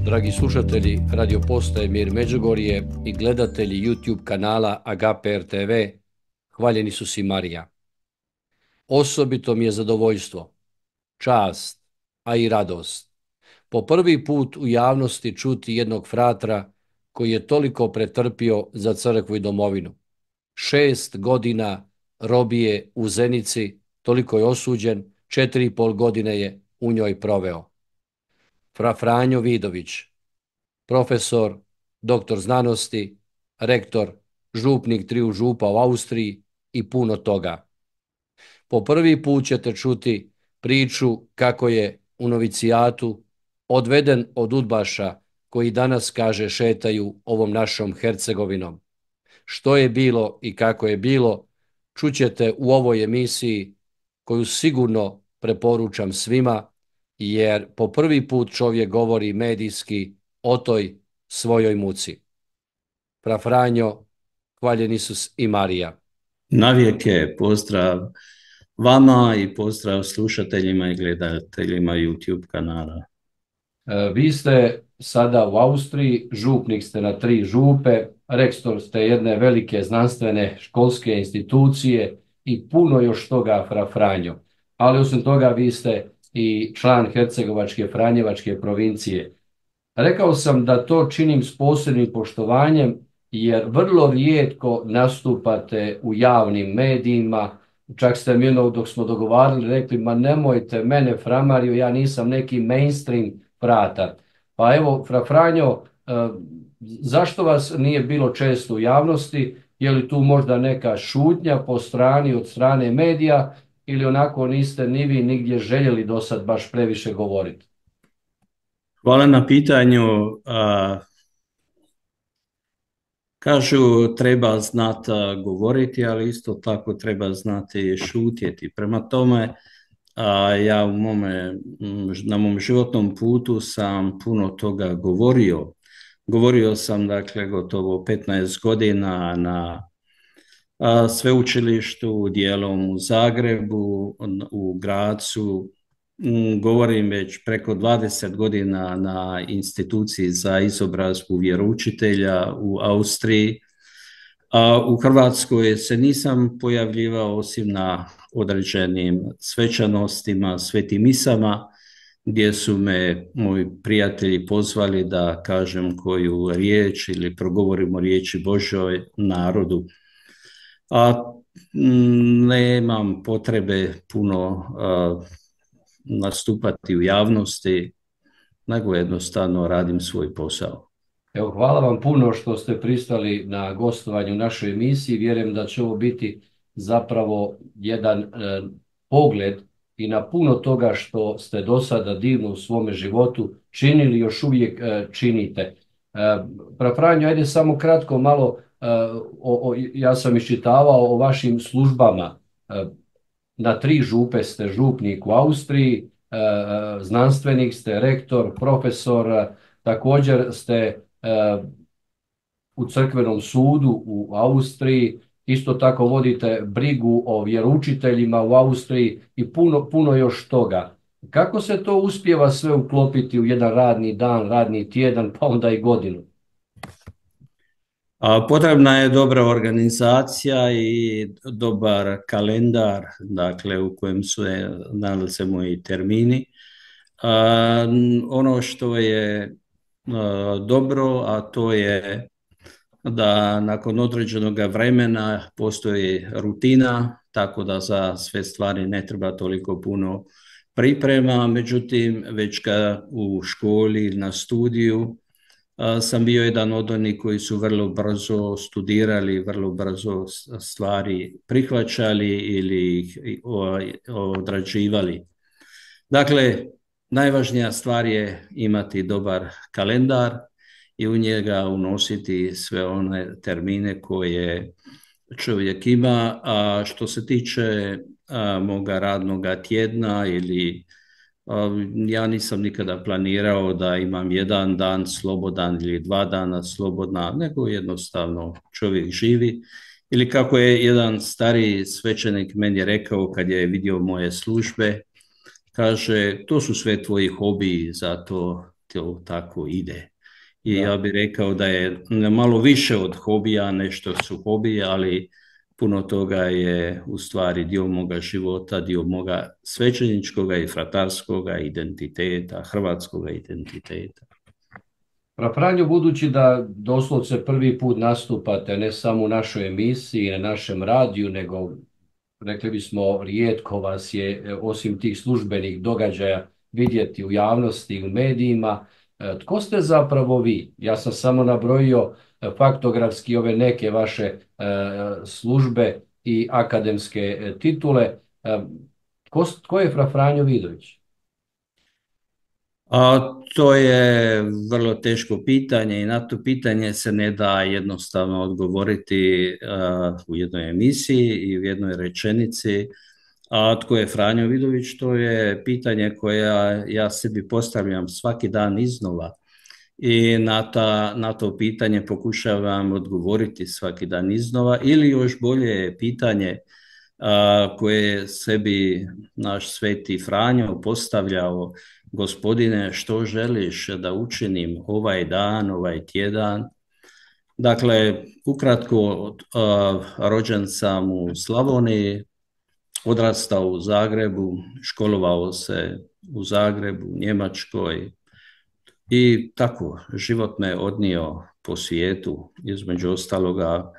Dragi slušatelji radio postaje Mir Međugorje i gledatelji YouTube kanala Agape RTV, hvaljeni su si Marija. Osobito mi je zadovoljstvo, čast, a i radost po prvi put u javnosti čuti jednog fratra koji je toliko pretrpio za crkvu i domovinu. 6 godina robije u Zenici, toliko je osuđen, 4,5 godine je u njoj proveo. Fra Franjo Vidović, profesor, doktor znanosti, rektor, župnik 3 župa u Austriji i puno toga. Po prvi put ćete čuti priču kako je u novicijatu odveden od udbaša koji danas, kaže, šetaju ovom našom Hercegovinom. Što je bilo i kako je bilo, čućete u ovoj emisiji koju sigurno preporučam svima, jer po prvi put čovjek govori medijski o toj svojoj muci. Fra Franjo, hvaljen Isus i Marija. Navijeke pozdrav vama i pozdrav slušateljima i gledateljima YouTube kanala. Vi ste sada u Austriji, župnik ste na 3 župe, rektor ste jedne velike znanstvene školske institucije i puno još toga, Fra Franjo. Ali osim toga vi ste i član Hercegovačke Franjevačke provincije. Rekao sam da to činim s posebnim poštovanjem jer vrlo rijetko nastupate u javnim medijima. Čak ste mi dok smo dogovarali rekli, ma nemojte mene, Fra Mariju, ja nisam neki mainstream fratar. Pa evo, Fra Franjo, zašto vas nije bilo često u javnosti? Je li tu možda neka šutnja po strani od strane medija ili onako niste ni vi nigdje željeli do sad baš previše govoriti? Hvala na pitanju. Kažu treba znati govoriti, ali isto tako treba znati šutjeti. Prema tome, ja na mom životnom putu sam puno toga govorio. Govorio sam, dakle, gotovo 15 godina na sveučilištu, dijelom u Zagrebu, u Grazu. Govorim već preko 20 godina na instituciji za izobrazbu vjeroučitelja u Austriji. U Hrvatskoj se nisam pojavljivao osim na određenim svečanostima, svetim misama, gdje su me moji prijatelji pozvali da kažem koju riječ ili progovorimo riječi Božoj narodu. Nemam potrebe puno nastupati u javnosti, nego jednostavno radim svoj posao. Evo, hvala vam puno što ste pristali na gostovanju u našoj emisiji. Vjerujem da će ovo biti zapravo jedan pogled i na puno toga što ste do sada divno u svome životu činili, još uvijek činite. Fra Franjo, ajde samo kratko malo, ja sam iščitavao o vašim službama. Na 3 župe ste župnik u Austriji, znanstvenik ste, rektor, profesor, također ste u crkvenom sudu u Austriji, isto tako vodite brigu o vjeroučiteljima u Austriji i puno još toga. Kako se to uspijeva sve uklopiti u jedan radni dan, radni tjedan, pa onda i godinu? Potrebna je dobra organizacija i dobar kalendar, dakle, u kojem se nalaze moji termini. Ono što je dobro, a to je da nakon određenog vremena postoji rutina, tako da za sve stvari ne treba toliko puno priprema. Međutim, već kad u školi, na studiju, sam bio jedan od onih koji su vrlo brzo studirali, vrlo brzo stvari prihvaćali ili ih odrađivali. Dakle, najvažnija stvar je imati dobar kalendar i u njega unositi sve one termine koje čovjek ima. A što se tiče moga radnoga tjedna ili ja nisam nikada planirao da imam jedan dan slobodan ili 2 dana slobodna, nego jednostavno čovjek živi. Ili kako je jedan stariji svećenik meni rekao kad je vidio moje službe, kaže, to su sve tvoji hobiji, zato to tako ide. I Da. ja bih rekao da je malo više od hobija, nešto su hobiji, ali puno toga je u stvari dio moga života, dio moga svećeničkoga i fratarskoga identiteta, hrvatskoga identiteta. Pa Franjo, budući da doslovce prvi put nastupate ne samo u našoj emisiji, na našem radiju, nego rekli bismo rijetko vas je osim tih službenih događaja vidjeti u javnosti, u medijima. Tko ste zapravo vi? Ja sam samo nabrojio faktografski ove neke vaše službe i akademske titule. Tko je Fra Franjo Vidović? To je vrlo teško pitanje i na to pitanje se ne da jednostavno odgovoriti u jednoj emisiji i u jednoj rečenici. A tko je Franjo Vidović? To je pitanje koje ja sebi postavljam svaki dan iznova i na to pitanje pokušavam odgovoriti svaki dan iznova, ili još bolje je pitanje koje je sebi naš sveti Franjo postavljao: Gospodine, što želiš da učinim ovaj dan, ovaj tjedan? Dakle, ukratko, rođen sam u Slavoniji, odrastao u Zagrebu, školovao se u Zagrebu, Njemačkoj i tako, život me odnio po svijetu. Između ostaloga,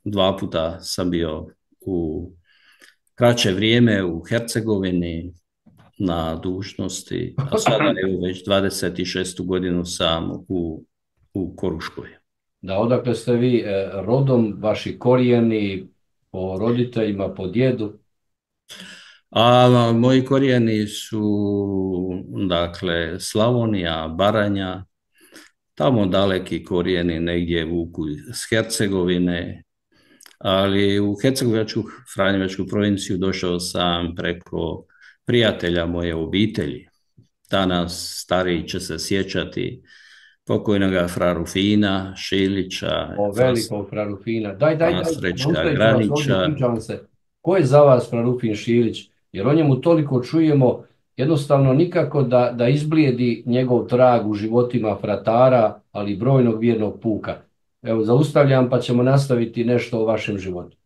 2 puta sam bio u kraće vrijeme u Hercegovini na dužnosti, a sada evo već 26. godinu sam u Koruškoj. Da, odakle ste vi rodom, vaši korijeni, po roditeljima, po djedu? A moji korijeni su, dakle, Slavonija, Baranja, tamo daleki korijeni negdje vuku iz Hercegovine, ali u Hercegovačku, Franjevačku provinciju došao sam preko prijatelja moje obitelji. Danas stariji će se sjećati pokojnoga fra Rufina Šilića, O velikog fra Rufina. Daj, Srećka Granića. ispričavam se. Ko je za vas fra Rufin Šilić? Jer o njemu toliko čujemo, jednostavno nikako da izblijedi njegov trag u životima fratara, ali i brojnog vjernog puka. Evo, zaustavljam pa ćemo nastaviti nešto o vašem životu.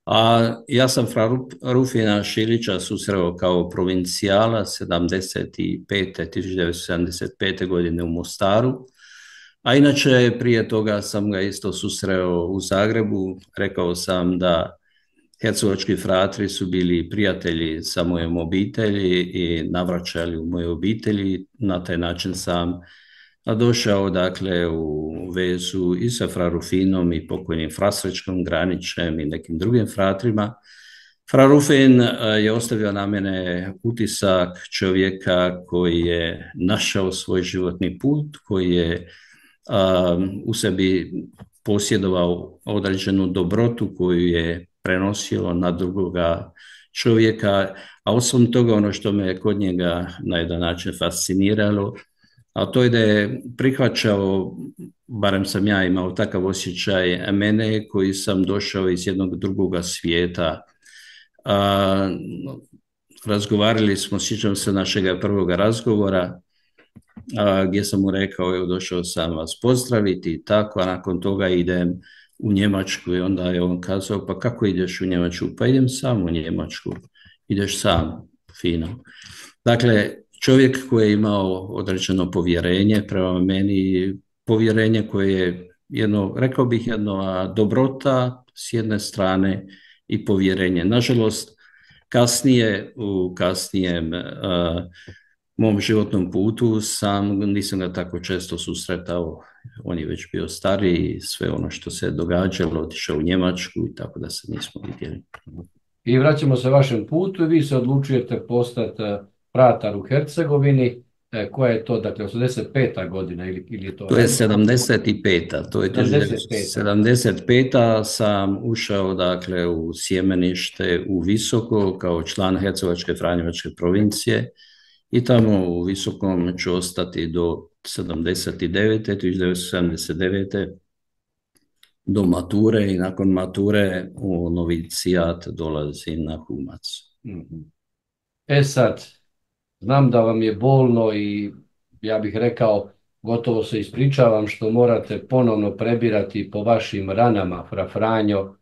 A ja sam fra Rufina Šilića susreo kao provincijala 1975. godine u Mostaru, a inače prije toga sam ga isto susreo u Zagrebu. Rekao sam da hercegovački fratri su bili prijatelji sa mojom obitelji i navraćali u moje obitelji. Na taj način sam došao, dakle, u vezu i sa fra Rufinom i pokojnim fra Srećkom Granićem i nekim drugim fratrima. Fra Rufin je ostavio na mene utisak čovjeka koji je našao svoj životni put, koji je u sebi posjedovao određenu dobrotu koju je prenosio na drugoga čovjeka, a osim toga ono što me kod njega na jedan način fasciniralo, a to je da je prihvaćao, barem sam ja imao takav osjećaj, mene koji sam došao iz jednog drugoga svijeta. Razgovarali smo, sjećam se našega prvoga razgovora, gdje sam mu rekao, evo došao sam vas pozdraviti i tako, a nakon toga idem u Njemačku. I onda je on kazao: pa kako ideš u Njemačku? Pa idem sam u Njemačku. Ideš sam, fino. Dakle, čovjek koji je imao određeno povjerenje prema meni, povjerenje koje je rekao bih, jedna dobrota s jedne strane i povjerenje. Nažalost, kasnije, u kasnijem mom životnom putu nisam ga tako često susretao. On je već bio stariji, sve ono što se događalo, otišao u Njemačku i tako da se nismo vidjeli. I vraćamo se vašem putu i vi se odlučujete postati fratar u Hercegovini. Koja je to, dakle, 85. godina ili je to? To je 75. To je 75. sam ušao, dakle, u sjemenište u Visoko kao član Hercegovačke Franjevačke provincije i tamo u Visokom ću ostati do 1979. do mature, i nakon mature u novicijat dolazi na Humac. Sad, znam da vam je bolno i ja bih rekao, gotovo se ispričavam što morate ponovno prebirati po vašim ranama, fra Franjo.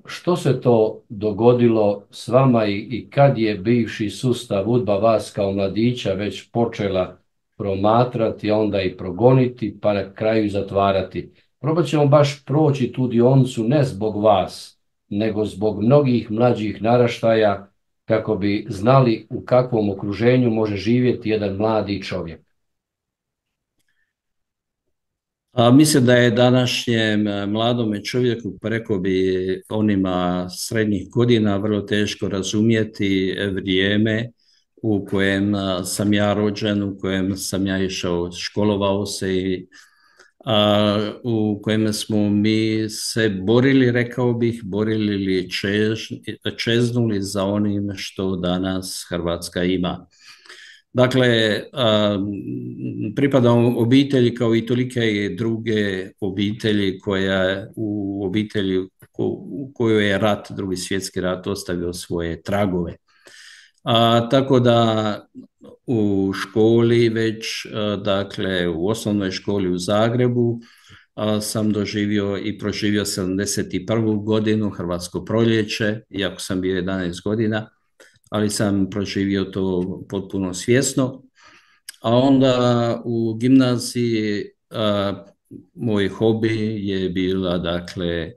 Što se to dogodilo s vama i kad je bivši sustav UDBA vas kao mladića već počela promatrati, a onda i progoniti, pa na kraju i zatvarati? Probat ćemo baš proći tu dionicu ne zbog vas, nego zbog mnogih mlađih naraštaja, kako bi znali u kakvom okruženju može živjeti jedan mladi čovjek. Mislim da je današnjem mladome čovjeku, preko bi onima srednjih godina, vrlo teško razumjeti vrijeme u kojem sam ja rođen, u kojem sam ja išao, školovao se i u kojem smo mi se borili, rekao bih, borili ili čeznuli za onim što danas Hrvatska ima. Dakle, pripadam obitelji kao i tolike druge obitelji u obitelji u kojoj je rat, Drugi svjetski rat, ostavio svoje tragove. Tako da u školi već, dakle u osnovnoj školi u Zagrebu sam doživio i proživio 71. godinu, Hrvatsko proljeće, iako sam bio 11 godina, ali sam proživio to potpuno svjesno. A onda u gimnaziji moj hobi je bila, dakle,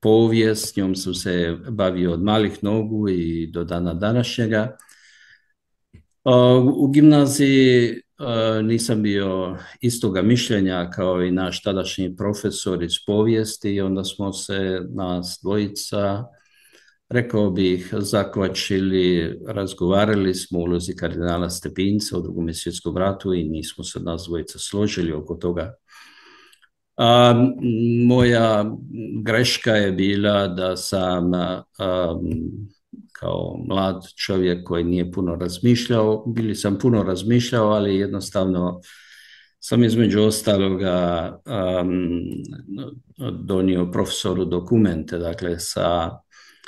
povijest, njom sam se bavio od malih nogu i do dana današnjega. U gimnaziji nisam bio istoga mišljenja kao i naš tadašnji profesor iz povijesti i onda smo se nas dvojica, rekao bih, zakvačili, razgovarali smo o ulozi kardinala Stepinca u Drugom svjetskom ratu i nismo se nas dvojica složili oko toga. Moja greška je bila da sam kao mlad čovjek koji nije puno razmišljao, sam puno razmišljao, ali jednostavno sam između ostaloga donio profesoru dokumente, dakle sa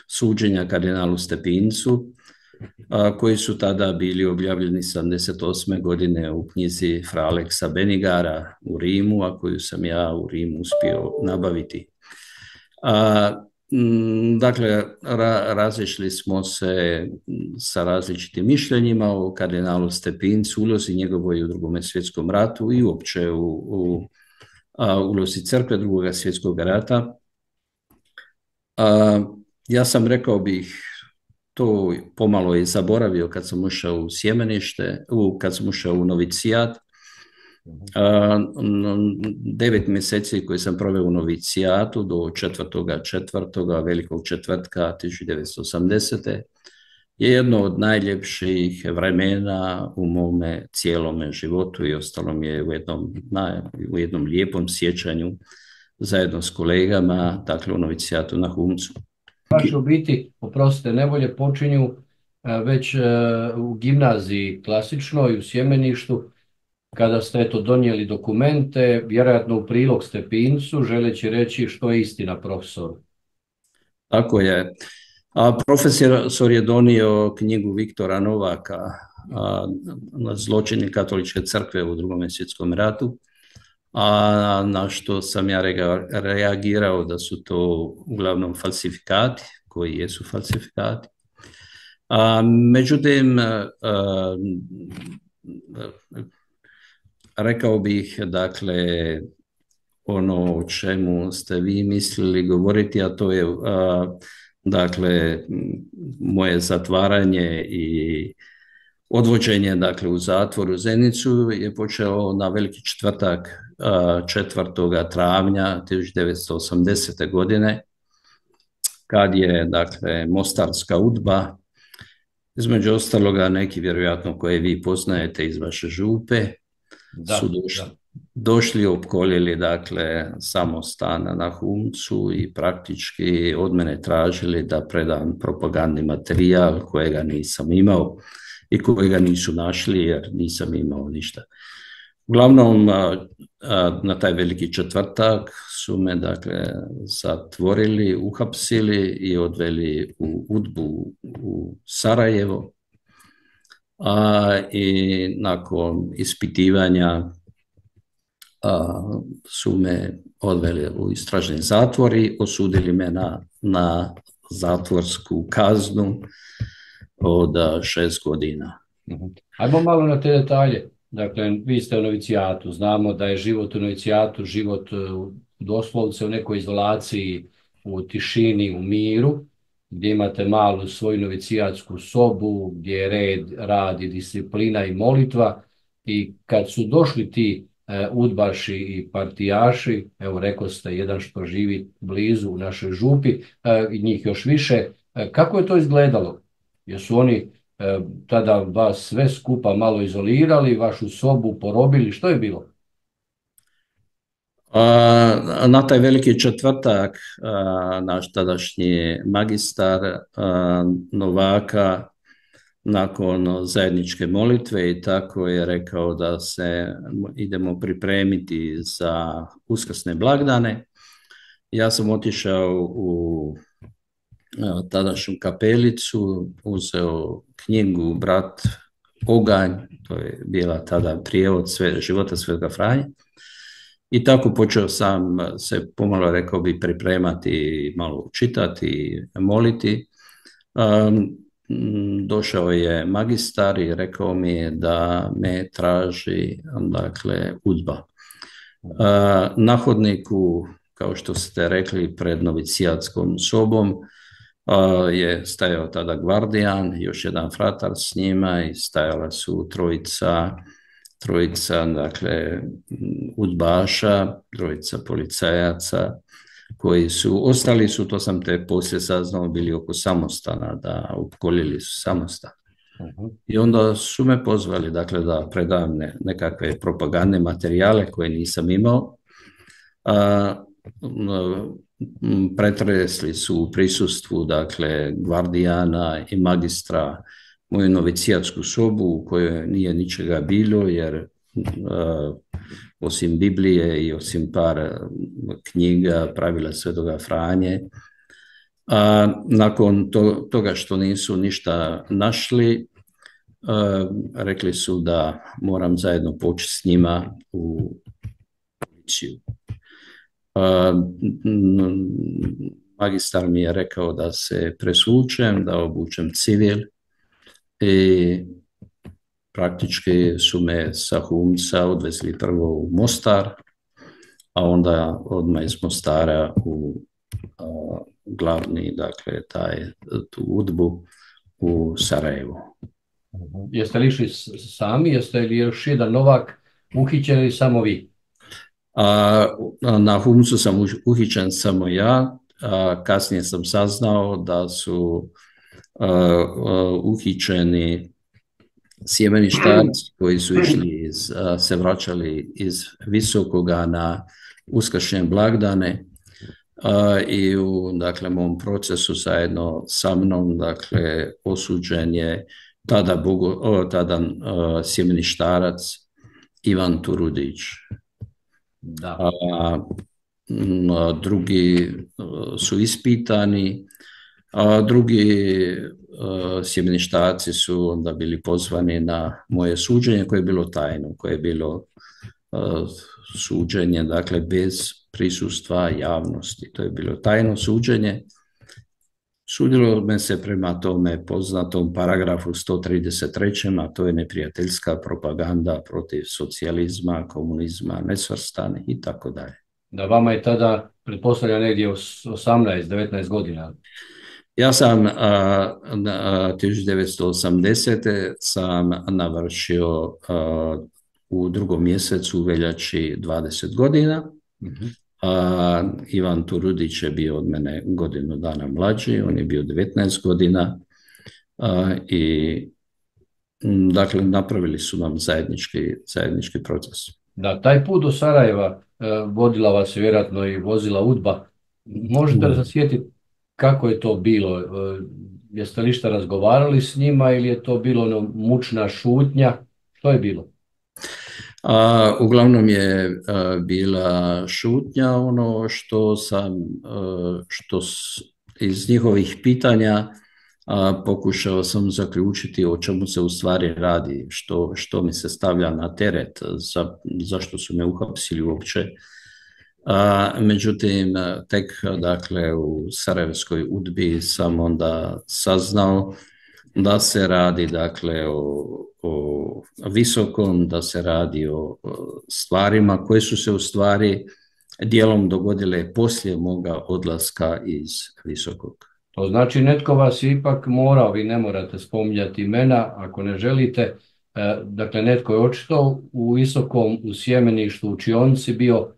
suđenja kardinalu Stepincu, koji su tada bili objavljeni 78. godine u knjizi fra Aleksa Benigara u Rimu, a koju sam ja u Rimu uspio nabaviti. Dakle, razišli smo se sa različitim mišljenjima o kardinalu Stepincu, ulozi njegovoj u Drugom svjetskom ratu i uopće u ulozi crkve Drugog svjetskog rata. Ja sam, rekao bih, to pomalo i zaboravio kad sam ušao u sjemenište, kad sam ušao u novicijat. 9 mjeseci koji sam proveo u novicijatu do 4.4. Velikog četvrtka 1980. je jedno od najljepših vremena u mome cijelome životu i ostalo mi je u jednom lijepom sjećanju zajedno s kolegama, dakle u novicijatu na Humcu. Vaše u biti, oprostite, nevolje počinju već u gimnaziji klasičnoj, u sjemeništu, kada ste donijeli dokumente, vjerojatno u prilog Stepincu, želeći reći što je istina profesoru. Tako je. Profesor je donio knjigu Viktora Novaka, Zločini katoličke crkve u Drugom svjetskom ratu, a na što sam ja reagirao da su to uglavnom falsifikati, koji jesu falsifikati. Međutim, rekao bih, dakle, ono o čemu ste vi mislili govoriti, a to je, dakle, moje zatvaranje i odvođenje, dakle, u zatvor u Zenicu je počelo na Veliki četvrtak 4. travnja 1980. godine, kad je, dakle, mostarska UDBA, između ostaloga neki vjerojatno koje vi poznajete iz vaše župe, su došli, opkoljili, dakle, samostan na Humcu i praktički od mene tražili da predam propagandni materijal kojega nisam imao i kojega nisu našli jer nisam imao ništa. Uglavnom, na taj Veliki četvrtak su me, dakle, zatvorili, uhapsili i odveli u UDBU u Sarajevo. i nakon ispitivanja su me odveli u istražni zatvor i osudili me na zatvorsku kaznu od 6 godina. Ajmo malo na te detalje. Dakle, vi ste u novicijatu, znamo da je život u novicijatu, život doslovce u nekoj izolaciji, u tišini, u miru, gdje imate malu svoju novicijatsku sobu, gdje je red, rad i disciplina i molitva. I kad su došli ti udbaši i partijaši, evo rekao ste jedan što živi blizu u našoj župi, i njih još više, kako je to izgledalo? Jesu oni tada vas sve skupa malo izolirali, vašu sobu porobili, što je bilo? Na taj veliki četvrtak naš tadašnji magistar Novaka nakon zajedničke molitve i tako je rekao da se idemo pripremiti za uskrsne blagdane. Ja sam otišao u tadašnju kapelicu, uzeo knjigu Brat Oganj, to je bila tada prijevod života Svetoga Franje. I tako počeo sam se pomalo, rekao bi, pripremati, malo čitati, moliti. Došao je magistar i rekao mi da me traži, dakle, udba. Na hodniku, kao što ste rekli, pred novicijatskom sobom je stajao tada gvardijan, još jedan fratar s njima i stajala su trojica, dakle, udbaša, trojica policajaca koji ostali su, to sam te poslije saznao, bili oko samostana, da opkolili su samostan. I onda su me pozvali, dakle, da predam nekakve propagandne materijale koje nisam imao. Pretresli su u prisustvu, dakle, gvardijana i magistra moju novicijatsku sobu u kojoj nije ničega bilo, jer osim Biblije i osim par knjiga, pravila Svetoga Franje. Nakon toga što nisu ništa našli, rekli su da moram zajedno poći s njima u policiju. Magistar mi je rekao da se presvučem, da obučem civil i praktički su me sa Humca odvezli prvo u Mostar, a onda odmah iz Mostara u glavni, dakle, tu udbu u Sarajevo. Jeste li išli sami, jeste li još jedan Novak uhićen ili samo vi? Na Humcu sam uhićen samo ja, kasnije sam saznao da su uhićeni sjemeništarci koji su išli se vraćali iz Visokoga na uskršnje blagdane i u, dakle, mom procesu zajedno sa mnom, dakle, osuđen je tada sjemeništarac Ivan Turudić. Da. Drugi su ispitani, a drugi sjemeništarci su onda bili pozvani na moje suđenje koje je bilo tajno, koje je bilo suđenje, dakle, bez prisustva javnosti. To je bilo tajno suđenje. Sudilo me se prema tome poznatom paragrafu 133. a to je neprijateljska propaganda protiv socijalizma, komunizma, nesvrstanih i tako dalje. Da, vama je tada, pretpostavljam, negdje 18-19 godina. Ja sam 1980. sam navršio u 2. mjesecu veljači 20 godina. Ivan Turudić je bio od mene godinu dana mlađi, on je bio 19 godina i, dakle, napravili su nam zajednički proces. Da, taj put do Sarajeva vodila vas je vjerojatno i vozila udba. Možete li se sjetiti kako je to bilo? Jeste li šta razgovarali s njima ili je to bilo mučna šutnja? Što je bilo? Uglavnom je bila šutnja. Ono što iz njihovih pitanja pokušao sam zaključiti o čemu se u stvari radi, što mi se stavlja na teret, zašto su me uhapsili uopće. Međutim, tek dakle u Sarajevskoj UDBI sam onda saznao da se radi dakle o Visokom, da se radi o stvarima koje su se u stvari dijelom dogodile poslije moga odlaska iz Visokog. To znači netko vas je ipak morao, vi ne morate spominjati imena ako ne želite, dakle netko je očito u Visokom, u sjemeništu, u učionici bio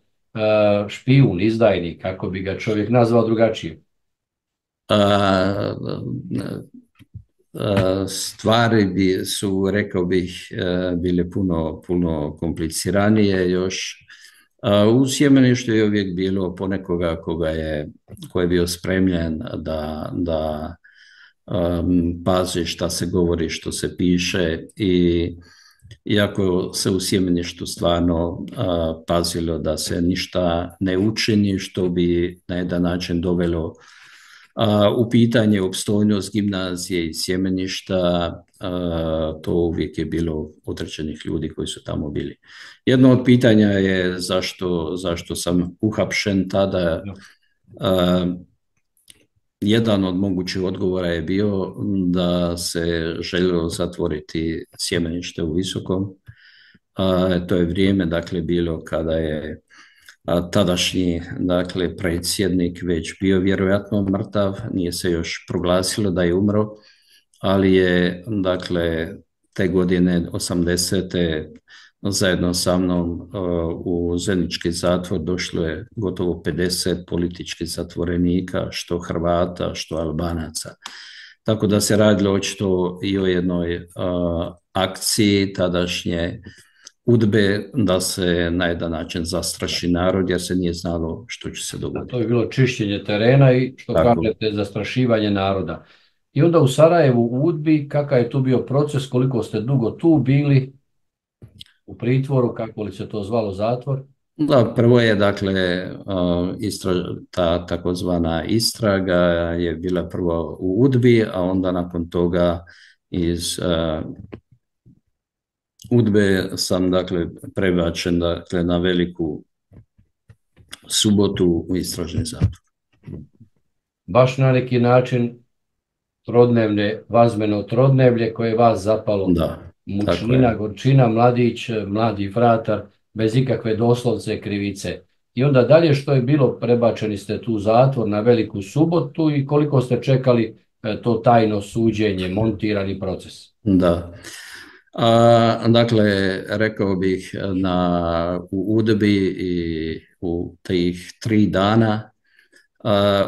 špijun, izdajnik, kako bi ga čovjek nazvao drugačije. Stvari su, rekao bih, bile puno kompliciranije još. U sjemeništu je uvijek bilo ponekoga ko je bio spremljen da pazi šta se govori, što se piše, i iako se u sjemeništu stvarno pazilo da se ništa ne učini što bi na jedan način dovelo u pitanje opstojnost gimnazije i sjemeništa, to uvijek je bilo određenih ljudi koji su tamo bili. Jedno od pitanja je zašto sam uhapšen tada. Jedan od mogućih odgovora je bio da se željelo zatvoriti sjemenište u Visokom. To je vrijeme dakle bilo kada je tadašnji dakle predsjednik već bio vjerojatno mrtav, nije se još proglasilo da je umro, ali je dakle te godine 80. zajedno sa mnom u Zenički zatvor došlo je gotovo 50 političkih zatvorenika, što Hrvata, što Albanaca. Tako da se radilo očito i o jednoj akciji tadašnje UDBE da se na jedan način zastraši narod, jer se nije znalo što će se dogoditi. To je bilo čišćenje terena i što kažete zastrašivanje naroda. I onda u Sarajevu u UDBI, kakav je tu bio proces, koliko ste dugo tu bili u pritvoru, kako li se to zvalo, zatvor? Da, prvo je dakle ta takozvana istraga je bila prvo u UDBI, a onda nakon toga iz UDBE sam dakle prebačen dakle na Veliku Subotu u istražni zatvor. Baš na neki način trodnevne, vazmeno trodnevlje koje je vas zapalo. Da, mučnina, gorčina, mladić, mladi fratar, bez ikakve doslovce krivice. I onda dalje što je bilo, prebačeni ste tu u zatvor na Veliku Subotu i koliko ste čekali to tajno suđenje, montirani proces? Da. Dakle, rekao bih u UDBI i u tih 3 dana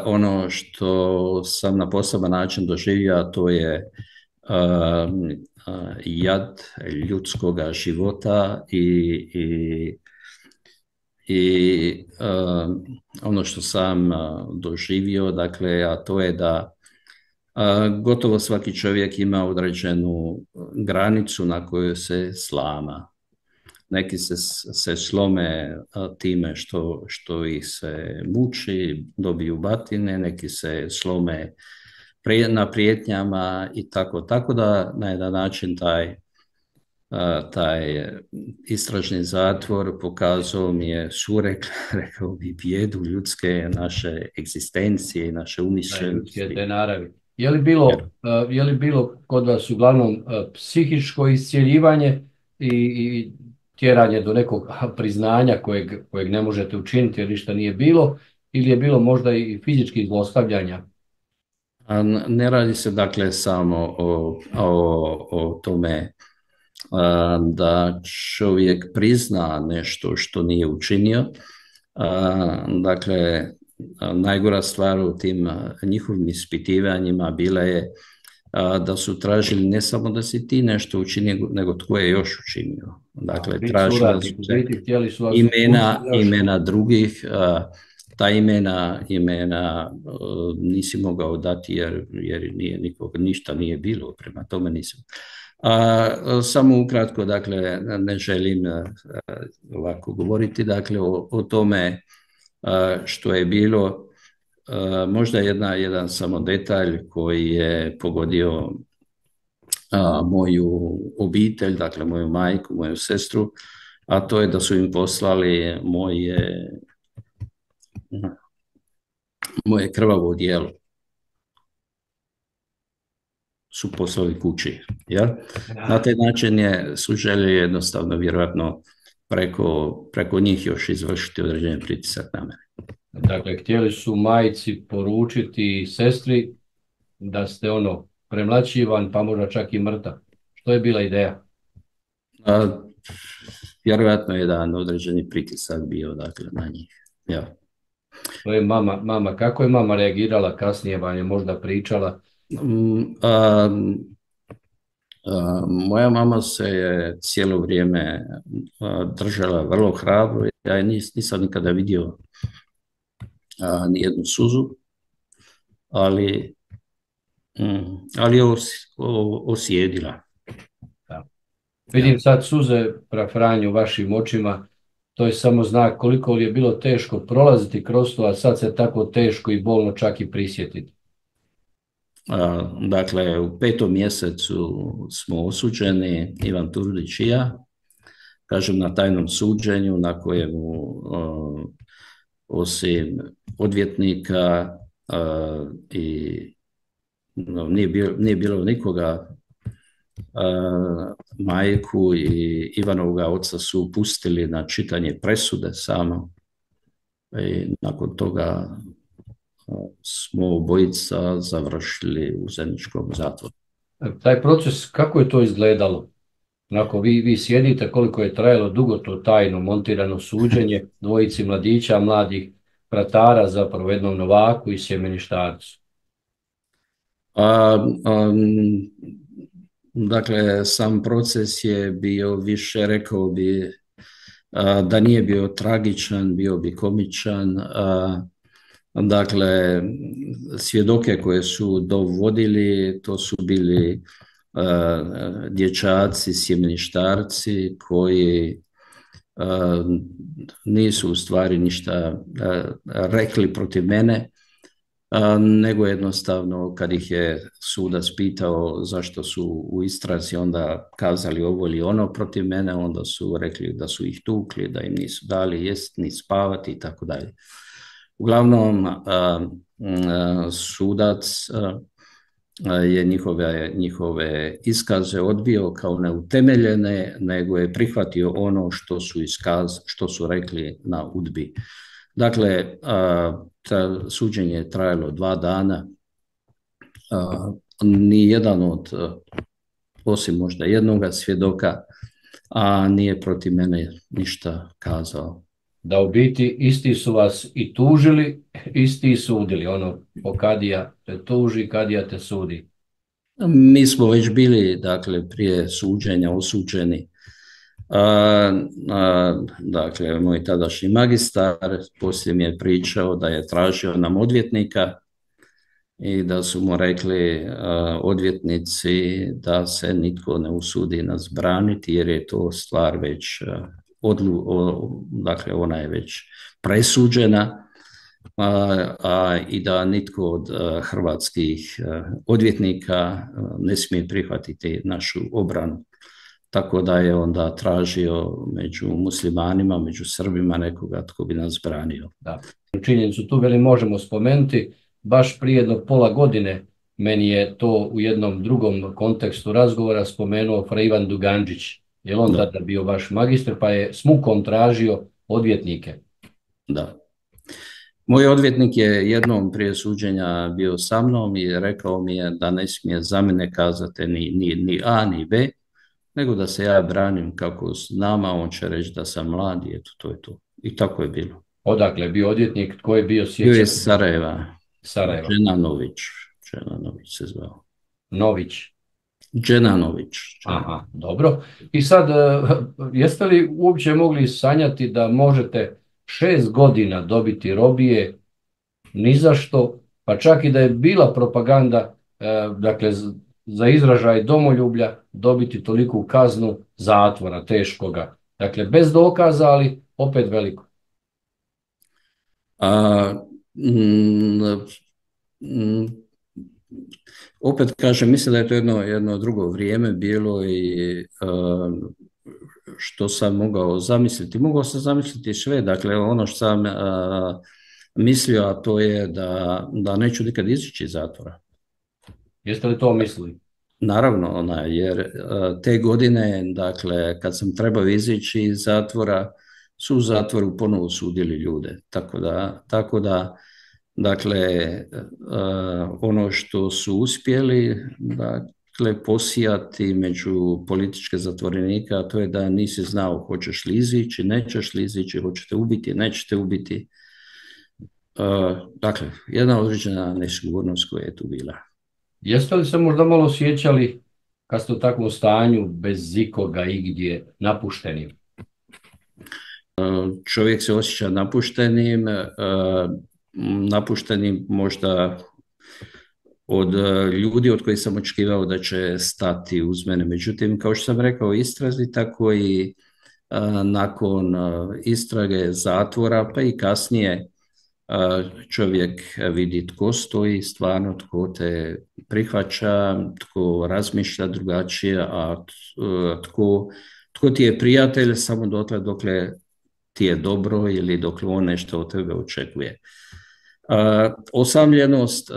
ono što sam na poseban način doživio, to je jad ljudskoga života i ono što sam doživio, dakle, a to je da gotovo svaki čovjek ima određenu granicu na kojoj se slama. Neki se slome time što ih se muči, dobiju batine, neki se slome na prijetnjama i tako da na jedan način taj istražni zatvor pokazao mi je rekao bi, bijedu ljudske naše egzistencije i naše umišljenosti. Je li bilo kod vas uglavnom psihičko iscjeljivanje i tjeranje do nekog priznanja kojeg ne možete učiniti jer ništa nije bilo, ili je bilo možda i fizičkih zlostavljanja? Ne radi se dakle samo o tome da čovjek prizna nešto što nije učinio. Dakle, najgora stvar u tim njihovim ispitivanjima bila je da su tražili ne samo da si ti nešto učinio, nego tko je još učinio. Dakle, tražili su imena drugih, ta imena nisi mogao dati jer ništa nije bilo, prema tome nisam. Samo ukratko, dakle, ne želim ovako govoriti, dakle, o tome što je bilo. možda jedan samo detalj koji je pogodio moju obitelj, dakle moju majku, moju sestru, a to je da su im poslali moje krvavo odijelo. Su poslali kući. Ja? Na taj način su željeli jednostavno, vjerojatno, preko njih još izvršiti određeni pritisak na mene. Dakle, htjeli su majci poručiti sestri da ste premlaćivan, pa možda čak i mrtav. Što je bila ideja? Vjerojatno je jedan određeni pritisak bio, dakle, na njih. Ja. To je mama, kako je mama reagirala kasnije, vam je možda pričala? Moja mama se je cijelo vrijeme držala vrlo hrabro. Ja je nisam nikada vidio nijednu suzu, ali je osjedila. Da. Vidim sad suze prafranju u vašim očima, to je samo znak koliko li je bilo teško prolaziti kroz to, a sad se tako teško i bolno čak i prisjetiti. Dakle, u 5. mjesecu smo osuđeni, Ivan Turudić i ja, kažem na tajnom suđenju na kojemu osim odvjetnika i nije bilo nikoga, majku i Ivanovoga oca su pustili na čitanje presude samo i nakon toga smo obojica završili u zajedničkom zatvoru. Taj proces, kako je to izgledalo? Onako, vi sjedite, koliko je trajalo dugo to tajno montirano suđenje dvojici mladića, mladih bratara, zapravo jednom novaku i sjemeništarcu? Dakle, sam proces je bio više, rekao bi, da nije bio tragičan, bio bi komičan. Dakle, svjedoke koje su dovodili, to su bili dječaci, sjemeništarci koji nisu u stvari ništa rekli protiv mene, nego jednostavno kad ih je sudac pitao zašto su u istrazi onda kazali ovo ili ono protiv mene, onda su rekli da su ih tukli, da im nisu dali jest ni spavati i tako dalje. Uglavnom, sudac je njihove iskaze odbio kao neutemeljene, nego je prihvatio ono što su rekli na UDBI. Dakle, suđenje je trajalo 2 dana. Nijedan osim možda jednoga svjedoka, nije protiv mene ništa kazao. Da u biti isti su vas i tužili, isti i sudili. Kadija te tuži, kadija te sudi. Mi smo već bili, dakle, prije suđenja osuđeni. Dakle, moj tadašnji magistar poslije mi je pričao da je tražio nam odvjetnika i da su mu rekli odvjetnici da se nitko ne usudi nas braniti jer je to stvar već dakle ona je već presuđena i da nitko od hrvatskih odvjetnika ne smije prihvatiti našu obranu. Tako da je onda tražio među muslimanima, među Srbima nekoga tko bi nas branio. Da. Činjenicu tu možemo spomenuti, baš prije jedno pola godine meni je to u jednom drugom kontekstu razgovora spomenuo fra Ivan Dugančić. Je on tada bio vaš magistar, pa je s mukom tražio odvjetnike? Da. Moj odvjetnik je jednom prije suđenja bio sa mnom i rekao mi je da ne smije za mene kazati ni A ni B, nego da se ja branim kako s nama, on će reći da sam mlad i eto, to je to. I tako je bilo. Odakle je bio odvjetnik, tko je bio sjećan? Bio je Sarajeva. Dženanović se zvao. Nović. Dženanović. Aha, dobro. I sad, jeste li uopće mogli sanjati da možete 6 godina dobiti robije ni za što, pa čak i da je bila propaganda, dakle, za izražaj domoljublja, dobiti toliku kaznu zatvora teškoga? Dakle, bez dokaza, ali opet veliko. Mm, mm, Opet kažem, mislim da je to jedno drugo vrijeme bilo i što sam mogao zamisliti. Mogao sam zamisliti sve, dakle ono što sam mislio, a to je da neću nikad izići iz zatvora. Jeste li to mislili? Naravno, jer te godine, dakle, kad sam trebao izići iz zatvora, su u zatvoru ponovo sudili ljude. Tako da dakle, ono što su uspjeli, dakle, posijati među političke zatvorenike, a to je da nisi znao hoćeš li izići, nećeš li izići, hoćete ubiti, nećete ubiti. Dakle, jedna određena nesigurnost koja je tu bila. Jeste li se možda malo osjećali kad ste u takvom stanju, bez ikoga igdje, napušteni? Čovjek se osjeća napuštenim možda od ljudi od kojih sam očekivao da će stati uz mene. Međutim, kao što sam rekao, istrazi, tako i nakon istrage zatvora, pa i kasnije čovjek vidi tko stoji stvarno, tko te prihvaća, tko razmišlja drugačije, a tko ti je prijatelj samo dokle ti je dobro ili dokle on nešto od tebe očekuje. Osamljenost,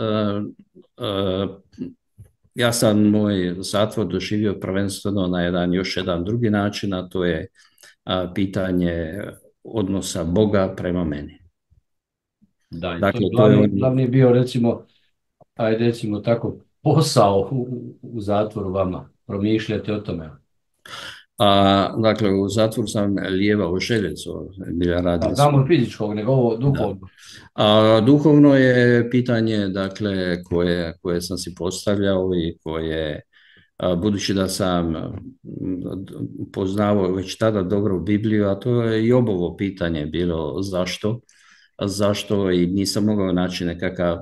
ja sam moj zatvor doživio prvenstveno na još jedan drugi način, a to je pitanje odnosa Boga prema meni. Da, dakle, to je glavni bio, recimo tako, posao u zatvoru vama, promišljate o tome. Dakle, u zatvoru sam lijevao željezo. Znamo fizičkog, nego ovo duhovno. Duhovno je pitanje, dakle, koje sam si postavljao i koje, budući da sam poznavao već tada dobro Bibliju, a to je i Jobovo pitanje bilo zašto i nisam mogao naći nekakav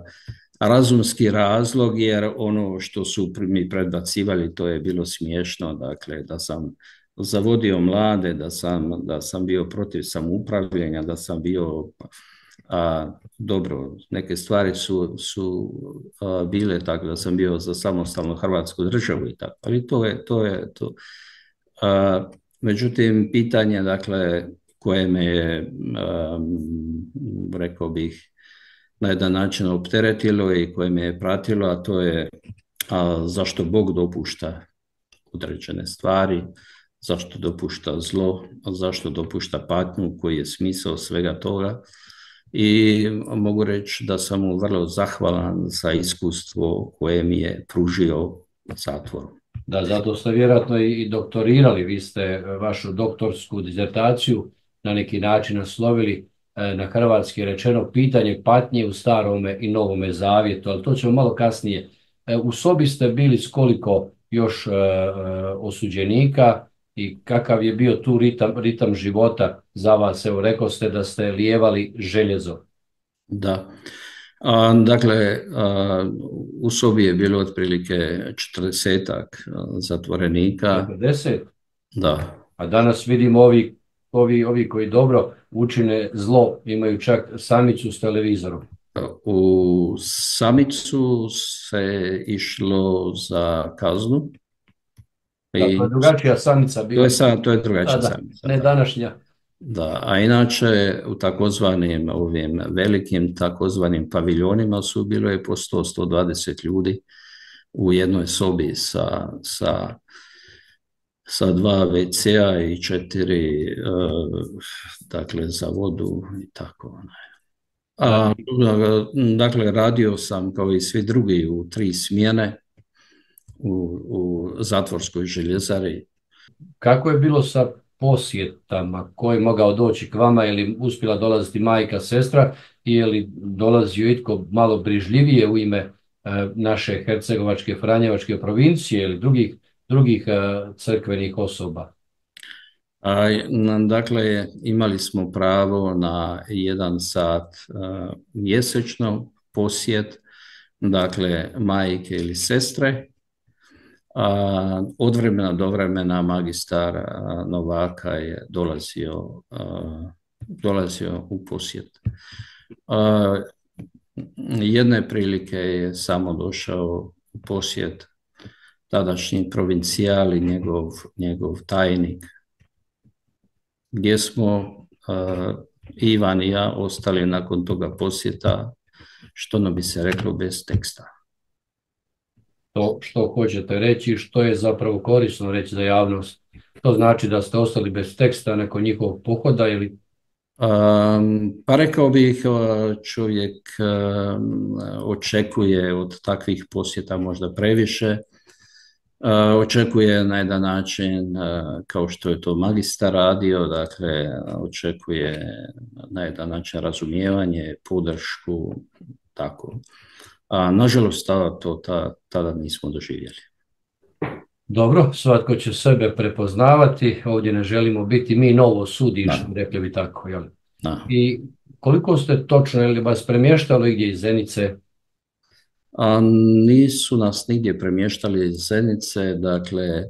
razumski razlog, jer ono što su mi predbacivali, to je bilo smiješno, dakle, da sam zavodio mlade, da sam bio protiv samoupravljanja, da sam bio dobro, neke stvari su bile tako da sam bio za samostalnu Hrvatsku državu i tako, ali to je to. Međutim, pitanje, dakle, koje me je, rekao bih, na jedan način opteretilo i koje me je pratilo, a to je zašto Bog dopušta određene stvari, zašto dopušta zlo, zašto dopušta patnju, koji je smisao svega toga. I mogu reći da sam mu vrlo zahvalan za iskustvo koje mi je pružio u zatvoru. Da, zato ste vjerojatno i doktorirali, vi ste vašu doktorsku disertaciju na neki način naslovili na hrvatski rečeno pitanje patnje u starome i novome zavjetu, ali to ćemo malo kasnije. U sobi ste bili s koliko još osuđenika i kakav je bio tu ritam života za vas? Evo, rekao ste da ste lijevali željezo. Da. Dakle, u sobi je bilo otprilike 40-ak zatvorenika. 40? Da. A danas vidimo ovi koji dobro učine zlo, imaju čak samicu s televizorom. U samicu se išlo za kaznu. Da, to je drugačija samica bila. To je drugačija samica. Ne današnja. Da, a inače u takozvanim ovim velikim takozvanim paviljonima bilo je po 100-120 ljudi u jednoj sobi sa 2 WC-a i 4 dakle za vodu i tako. Dakle, radio sam kao i svi drugi u 3 smjene u zatvorskoj željezari. Kako je bilo sa posjetama? Ko je mogao doći k vama? Je li uspjela dolaziti majka, sestra? Je li dolazio itko malo brižljivije u ime naše hercegovačke, franjevačke provincije ili drugih crkvenih osoba? Dakle, imali smo pravo na 1 sat mjesečno posjet, dakle, majke ili sestre. Od vremena do vremena magistar Novaka je dolazio u posjet. jedne prilike je samo došao u posjet tadašnji provincijal i njegov tajnik, gdje smo Ivan i ja ostali nakon toga posjeta, što nam bi se reklo, bez teksta. To što hoćete reći, što je zapravo korisno reći za javnost? To znači da ste ostali bez teksta nakon njihovog pohoda ili? Pa rekao bih, čovjek očekuje od takvih posjeta možda previše. Očekuje na jedan način, kao što je to magistar radio, dakle, očekuje na jedan način razumijevanje, podršku, tako. A nažalost, tada nismo doživjeli. Dobro, svatko će sebe prepoznavati, ovdje ne želimo biti mi novo sudiš, rekli bi tako, jel? I koliko ste točno, je li vas premještalo gdje iz Zenice? Nisu nas nigdje premještali iz Zenice, dakle,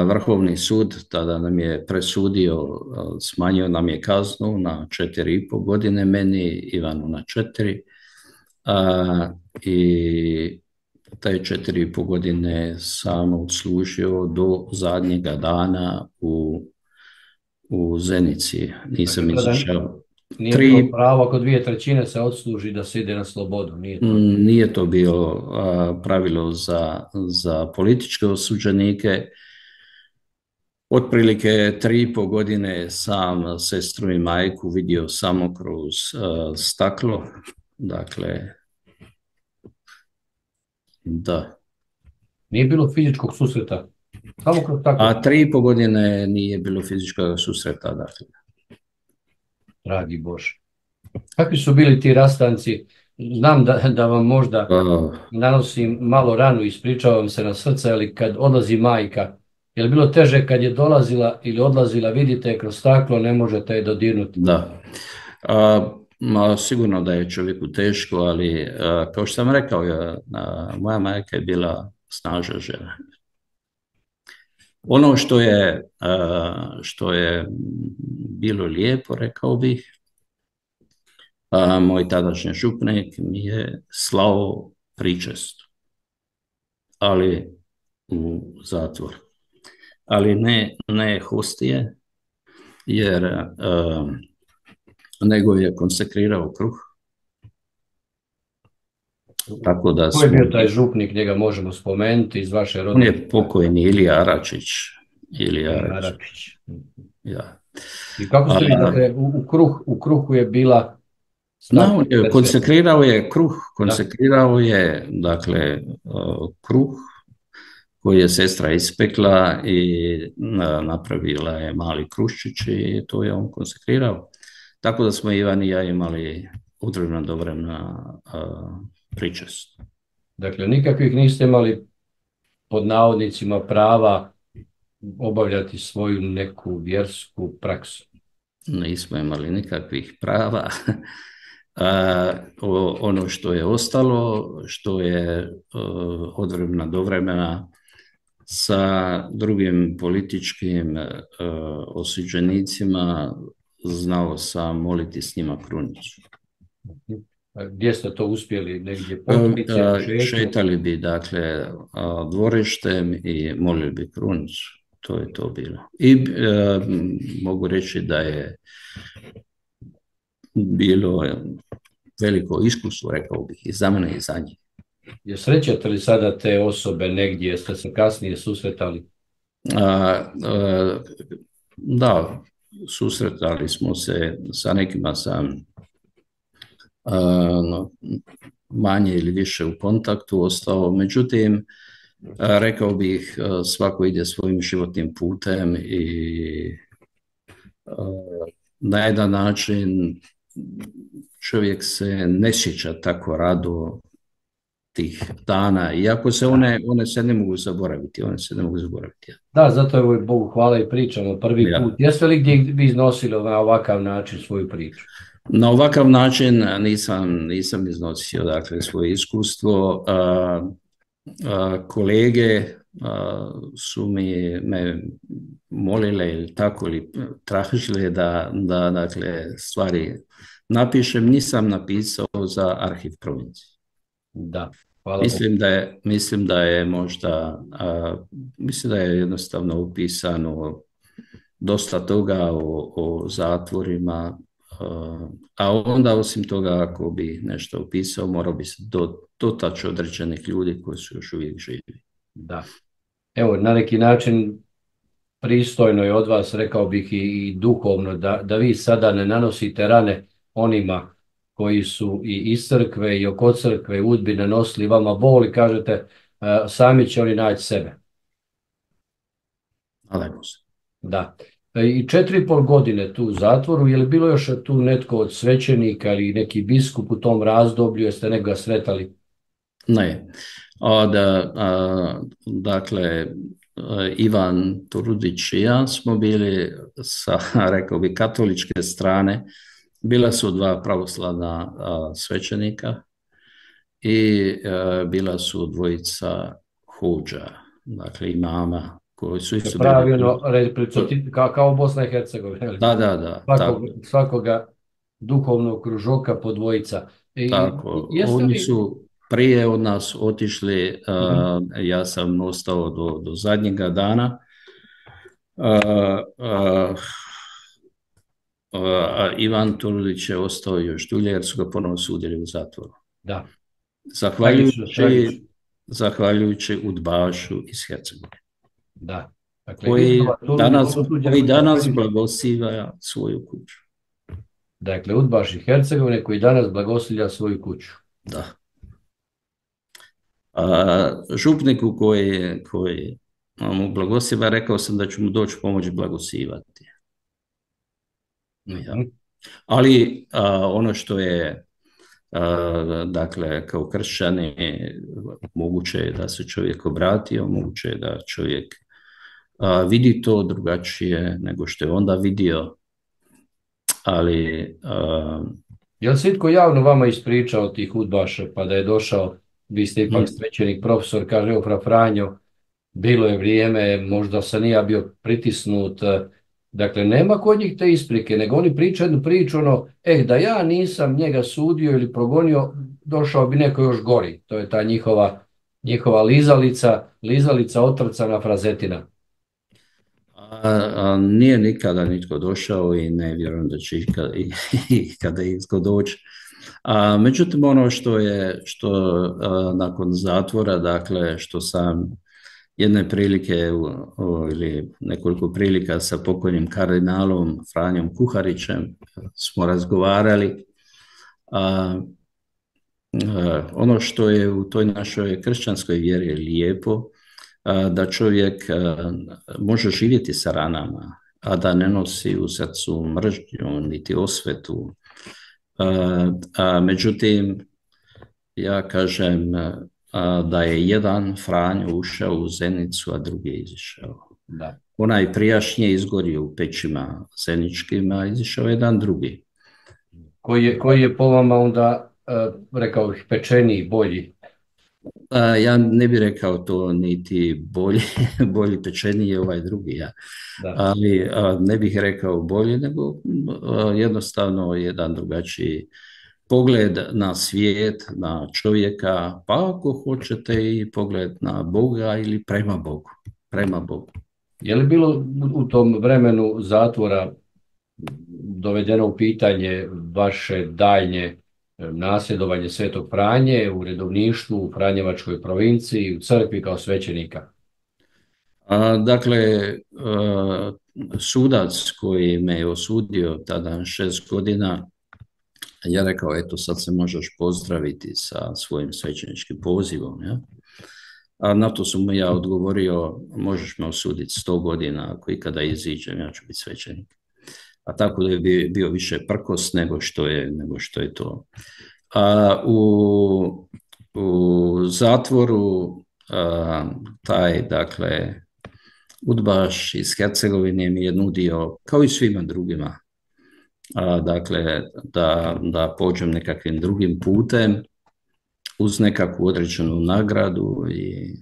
Vrhovni sud tada nam je presudio, smanjio nam je kaznu na 4,5 godine, meni, Ivanu na 4, i taj 4,5 godine sam odslužio do zadnjega dana u Zenici. Nisam izašao. Nije bilo pravo ako 2/3 se odsluži da se ide na slobodu? Nije to bilo pravilo za političke osuđenike. Otprilike 3,5 godine sam sestru i majku vidio samo kroz staklo. Dakle, da. Nije bilo fizičkog susreta? Samo kroz staklo? 3,5 godine nije bilo fizičkog susreta, dakle. Dragi Bože. Kakvi su bili ti rastanci? Znam da vam možda nanosim malo ranu, ispričavam se na srce, ali kad odlazi majka, je li bilo teže kad je dolazila ili odlazila, vidite kroz staklo, ne možete je dodirnuti? Da. Sigurno da je čovjeku teško, ali kao što sam rekao, moja majka je bila snažna žena. Ono što je bilo lijepo, rekao bih, moj tadašnji župnik mi je slao pričestu, ali u zatvor. Ali ne hostije, jer nego je konsekrirao kruh. Tako da Ko je bio taj župnik, njega možemo spomenuti iz vaše rodine? On je pokojni Ilija Aračić. Ja. I kako ste vi, dakle, u kruhu je bila... Konsekrirao je kruh, dakle, kruh koji je sestra ispekla i napravila je mali kruščić i to je on konsekrirao. Tako da smo Ivan i ja imali određeno do vremena pričest. Dakle, nikakvih niste imali, pod navodnicima, prava obavljati svoju neku vjersku praksu? Nismo imali nikakvih prava. Ono što je ostalo, što je od vremena do vremena sa drugim političkim osuđenicima, znao sam moliti s njima krunicu. Gdje ste to uspjeli? Negdje šetali bi, dakle, dvorištem i molili bi krunicu. To je to bilo. I mogu reći da je bilo veliko iskustvo, rekao bih, i za mene i za njih. Srećete li sada te osobe negdje? Ste se kasnije susretali? Da, susretali smo se, sa nekima sam manje ili više u kontaktu ostao, međutim, rekao bih, svako ide svojim životnim putem i na jedan način čovjek se ne sjeća tako rado tih dana, iako se one se ne mogu zaboraviti, Da, zato je Bogu hvala i pričamo prvi put. Jeste li gdje vi iznosili na ovakav način svoju priču? Na ovakav način nisam iznosio, dakle, svoje iskustvo. Kolege su me molile ili tako ili tražile da dakle, stvari napišem, nisam napisao za arhiv provincije. Da, hvala Bogu. Mislim da je možda, mislim da je jednostavno upisano dosta toga o zatvorima, a onda osim toga ako bi nešto upisao morao bi se dotaći određenih ljudi koji su još uvijek živi. Da. Evo, na neki način pristojno je od vas, rekao bih i duhovno, da vi sada ne nanosite rane onima koji su i iz crkve i oko crkve udbi nanosili vama bol i kažete sami će oni naći sebe. Nadajmo se. Da. I 4,5 godine tu u zatvoru, je li bilo još tu netko od svećenika ili neki biskup u tom razdoblju, jeste nekoga sretali? Ne. Dakle, Ivan Turudić i ja smo bili sa, rekao bi, katoličke strane. Bila su dva pravoslavna svećenika i bila su dvojica huđa, dakle imama, koji su isto Pravilno, kao Bosna i Hercegovina. Da. Svakoga duhovnog kružoka po dvojica. Tako, oni su prije od nas otišli, ja sam ostao do zadnjega dana. Ivan Turudić je ostao još dulje jer su ga ponovno sudili u zatvoru. Da. Zahvaljujući udbašu iz Hercegovine. Da. Dakle, koji danas blagosiva svoju kuću. Dakle, udbaš iz Hercegovine koji danas blagoslivlja svoju kuću. Da. Župniku koji mu blagosiva, rekao sam da ću mu doći pomoći blagosivati. Ja. Ali ono što je dakle kao kršćani moguće je da se čovjek obratio, moguće je da čovjek vidi to drugačije nego što je onda vidio, ali je li se itko javno vama ispričao tih udbaša pa da je došao, vi ste ipak svećenik, profesor, kaže evo fra Franjo, bilo je vrijeme, možda sam i ja bio pritisnut. Dakle, nema kod njih te isprike, nego oni pričaju jednu priču, da ja nisam njega sudio ili progonio, došao bi neko još gori. To je ta njihova lizalica otrcana frazetina. Nije nikada nitko došao i ne vjerujem da će ikada itko doći. Međutim, ono što nakon zatvora, dakle, što sam jedne prilike ili nekoliko prilika sa pokojnim kardinalom Franjom Kuharićem smo razgovarali. Ono što je u toj našoj kršćanskoj vjeri lijepo, da čovjek može živjeti sa ranama, a da ne nosi u srcu mržnju niti osvetu. Međutim, ja kažem da je jedan Franjo ušao u Zenicu, a drugi je izišao. Da. Onaj prijašnji je izgorio u pećima zeničkim, a izišao jedan drugi. Koji je po vama onda, rekao bih, pečeniji, bolji? Ja ne bih rekao to niti bolji pečeniji je ovaj drugi, ja. Ali ne bih rekao bolji, nego jednostavno jedan drugačiji pogled na svijet, na čovjeka, pa ako hoćete i pogled na Boga ili prema Bogu. Je li bilo u tom vremenu zatvora dovedeno u pitanje vaše daljnje nasljedovanje Svetog Franje u redovništvu, u Franjevačkoj provinciji, u crkvi kao svećenika? Dakle, sudac koji me je osudio tada 6 godina, ja rekao, eto sad se možeš pozdraviti sa svojim svećeničkim pozivom. Ja? A na to sam mu ja odgovorio, možeš me osuditi 100 godina, ako ikada iziđem, ja ću biti svećenik. A tako da je bio više prkos nego što je to. U zatvoru taj, dakle, udbaš iz Hercegovine mi je nudio, kao i svima drugima, dakle, da pođem nekakvim drugim putem uz nekakvu određenu nagradu i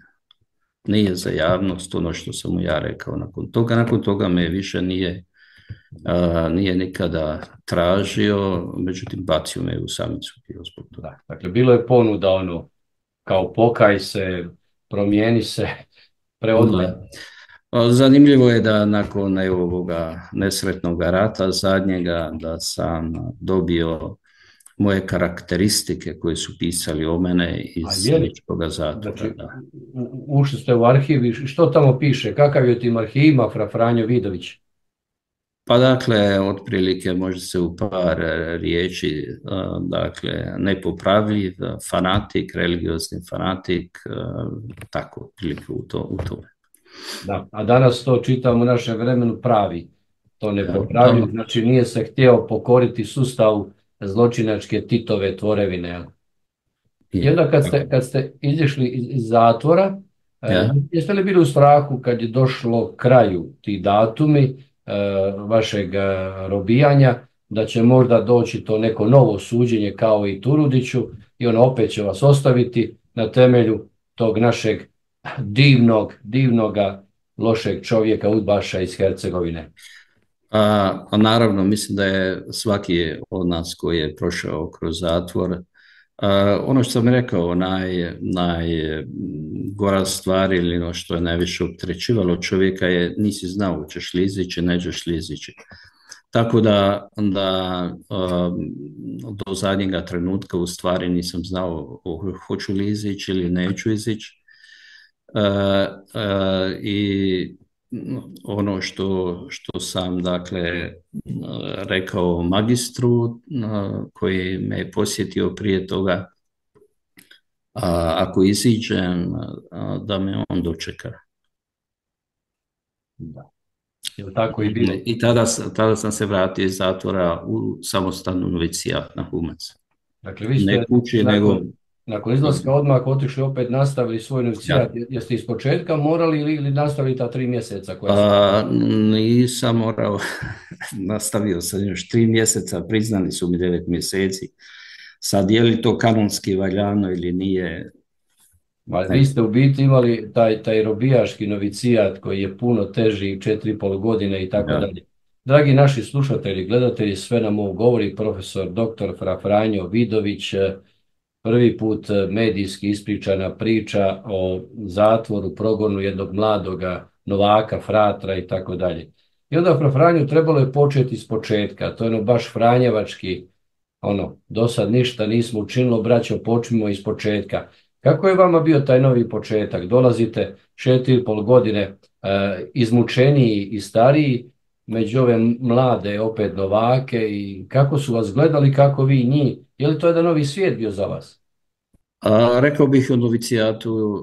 nije za javnost, ono što sam mu ja rekao nakon toga me više nije nikada tražio, međutim bacio me u samicu bio zbog toga. Da. Dakle, bilo je ponuda ono, kao pokaj se, promijeni se, preodgoj. Da. Zanimljivo je da nakon ovoga nesretnog rata zadnjega da sam dobio moje karakteristike koje su pisali o mene iz Ličkoga zatvora. Znači, ušli ste u arhiv i što tamo piše? Kakav je u tim arhivima Franjo Vidović? Pa dakle, otprilike može se u par riječi, dakle, nepopravljiv, fanatik, religiozni fanatik, tako, otprilike u tome. Da, a danas to čitamo u našem vremenu pravi, to nepopravljiv, znači nije se htio pokoriti sustavu zločinačke Titove tvorevine. I onda kad ste izišli iz zatvora, jeste li bili u strahu kad je došlo kraju ti datumi vašeg robijanja, da će možda doći to neko novo suđenje kao i Turudiću i ono opet će vas ostaviti na temelju tog našeg divnoga, lošeg čovjeka, udbaša iz Hercegovine? Naravno, mislim da je svaki od nas koji je prošao kroz zatvor, ono što sam rekao, najgora stvar ili ono što je najviše opterećivalo čovjeka je nisi znao ćeš li izići, nećeš li izići. Tako da do zadnjega trenutka u stvari nisam znao hoću li izići ili neću izići. I ono što sam dakle rekao magistru koji me je posjetio prije toga, ako iziđem da me on dočeka. Da. Tako i bilo. I tada sam se vratio iz zatvora u samostalnu novicijat na Humac. Dakle, vi ste nakon izlaska odmah otišli opet nastavili svoj novicijat. Jeste iz početka morali ili nastavili ta 3 mjeseca? Nisam morao, nastavio sam još 3 mjeseca, priznali su mi 9 mjeseci. Sad je li to kanonski valjano ili nije? Vi ste u biti imali taj robijaški novicijat koji je puno teži, 4,5 godine i tako dalje. Dragi naši slušatelji, gledatelji, sve nam ovo govori profesor dr. Franjo Vidović, prvi put medijski ispričana priča o zatvoru, progonu jednog mladoga novaka, fratra i tako dalje. I onda Franju trebalo je početi s početka, to je ono baš franjevački, do sad ništa nismo učinilo, braćo, počnimo iz početka. Kako je vama bio taj novi početak? Dolazite 4,5 godine izmučeniji i stariji, među ove mlade opet novake, i kako su vas gledali, kako vi njih? Je li to jedan novi svijet bio za vas? Rekao bih o novicijatu,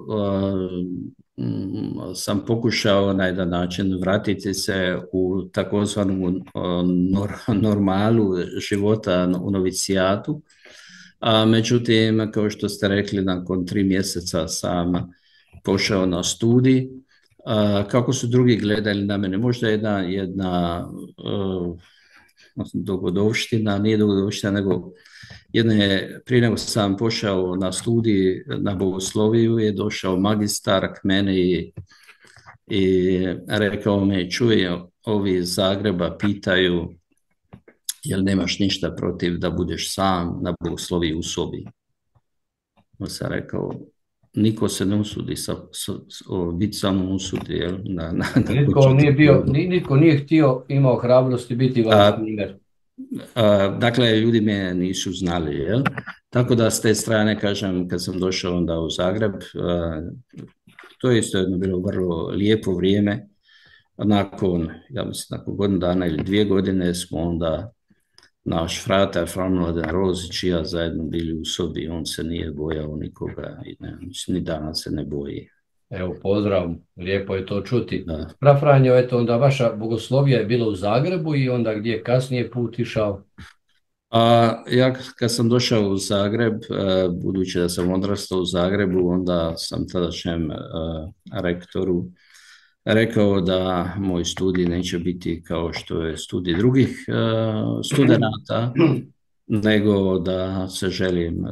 sam pokušao na jedan način vratiti se u takozvanu normalu života u novicijatu. Međutim, kao što ste rekli, nakon 3 mjeseca sam pošao na studij. Kako su drugi gledali na mene? Možda jedna dogodovština, nije dogodovština, nego prije nego sam pošao na studij na bogosloviju, je došao magistar k mene i rekao mi, čuje, ovi iz Zagreba pitaju jel nemaš ništa protiv da budeš sam na bogosloviji u sobi. On sam rekao, niko se ne usudi biti samo usudi. Nitko nije htio, imao hrabrosti biti vaš primjer. Dakle, ljudi me nisu znali. Jel? Tako da s te strane, kažem, kad sam došao onda u Zagreb, to je isto jedno bilo vrlo lijepo vrijeme. Nakon godinu dana ili 2 godine smo onda naš fratar Fran Mladen Rozić i ja zajedno bili u sobi, on se nije bojao nikoga i ni danas se ne boji. Evo, pozdrav, lijepo je to čuti. Franjo, eto, onda vaša bogoslovija je bila u Zagrebu i onda gdje je kasnije put išao? Ja kad sam došao u Zagreb, budući da sam odrastao u Zagrebu, onda sam tadašnjem rektoru rekao da moj studij neće biti kao što je studij drugih studenata nego da se želim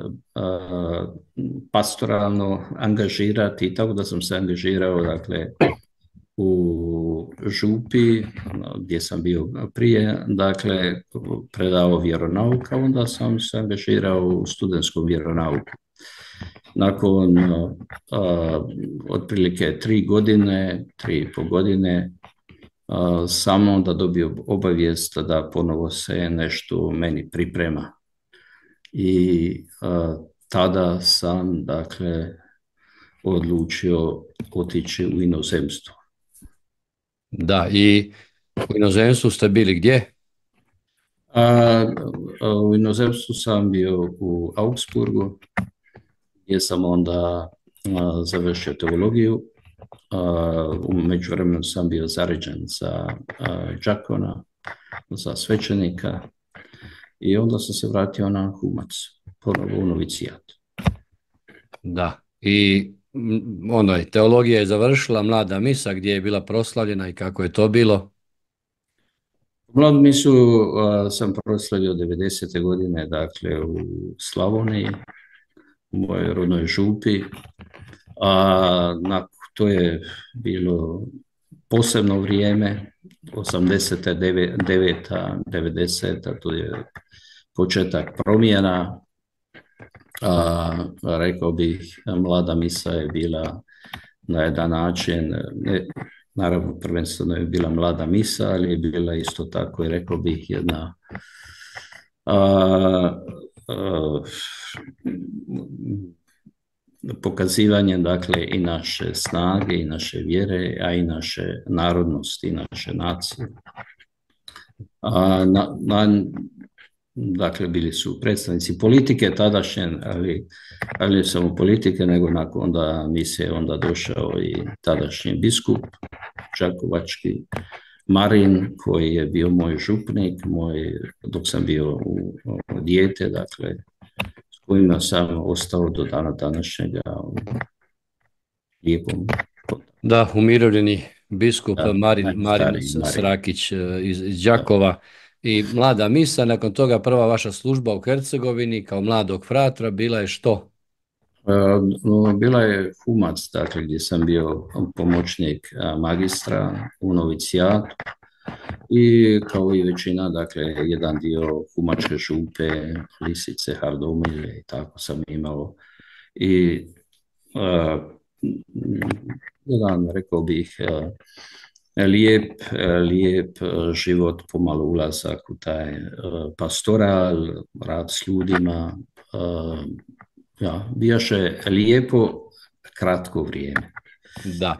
pastoralno angažirati, tako da sam se angažirao, dakle, u Župi, gdje sam bio prije, dakle, predao vjeronauk, a onda sam se angažirao u studentskom vjeronauku. Nakon otprilike 3,5 godine, sam onda dobio obavijest da ponovo se nešto meni priprema. I tada sam, dakle, odlučio otići u inozemstvo. Da, i u inozemstvu ste bili gdje? U inozemstvu sam bio u Augsburgu, gdje sam onda završio teologiju. U međuvremenu sam bio zaređen za đakona, za svećenika, i onda sam se vratio na Humac, ponovo u novicijat. Da, i teologija je završila, Mlada misa gdje je bila proslavljena i kako je to bilo? Mladu misu sam proslavio 90. godine, dakle, u Slavoniji, u mojoj rodnoj Župi. To je bilo posebno vrijeme, 89. 90. To je početak promjena. Rekao bih, Mlada misa je bila na jedan način, naravno prvenstveno je bila Mlada misa, ali je bila isto tako, i rekao bih, jedna pokazivanje, dakle, i naše snage i naše vjere, a i naše narodnosti i naše nacije. Dakle, bili su predstavnici politike tadašnje, ali samo politike, nego nakon onda misije onda došao i tadašnji biskup đakovački Marin, koji je bio moj župnik, dok sam bio dijete, dakle, s kojima sam ostao do dana današnjega u lijepom. Da, umirovljeni biskup Marin Srakić iz Đakova. I Mlada misa, nakon toga prva vaša služba u Hercegovini kao mladog fratra bila je što? Bila je Humac, dakle, gdje sam bio pomoćnik magistra u novicijatu, i kao i većina, dakle, jedan dio Humačke Župe, Lisice, Hardomilje, i tako sam imao. I jedan, rekao bih, lijep život, pomalo ulazak u taj pastoral, rad s ljudima. Bijaše lijepo, kratko vrijeme. Da.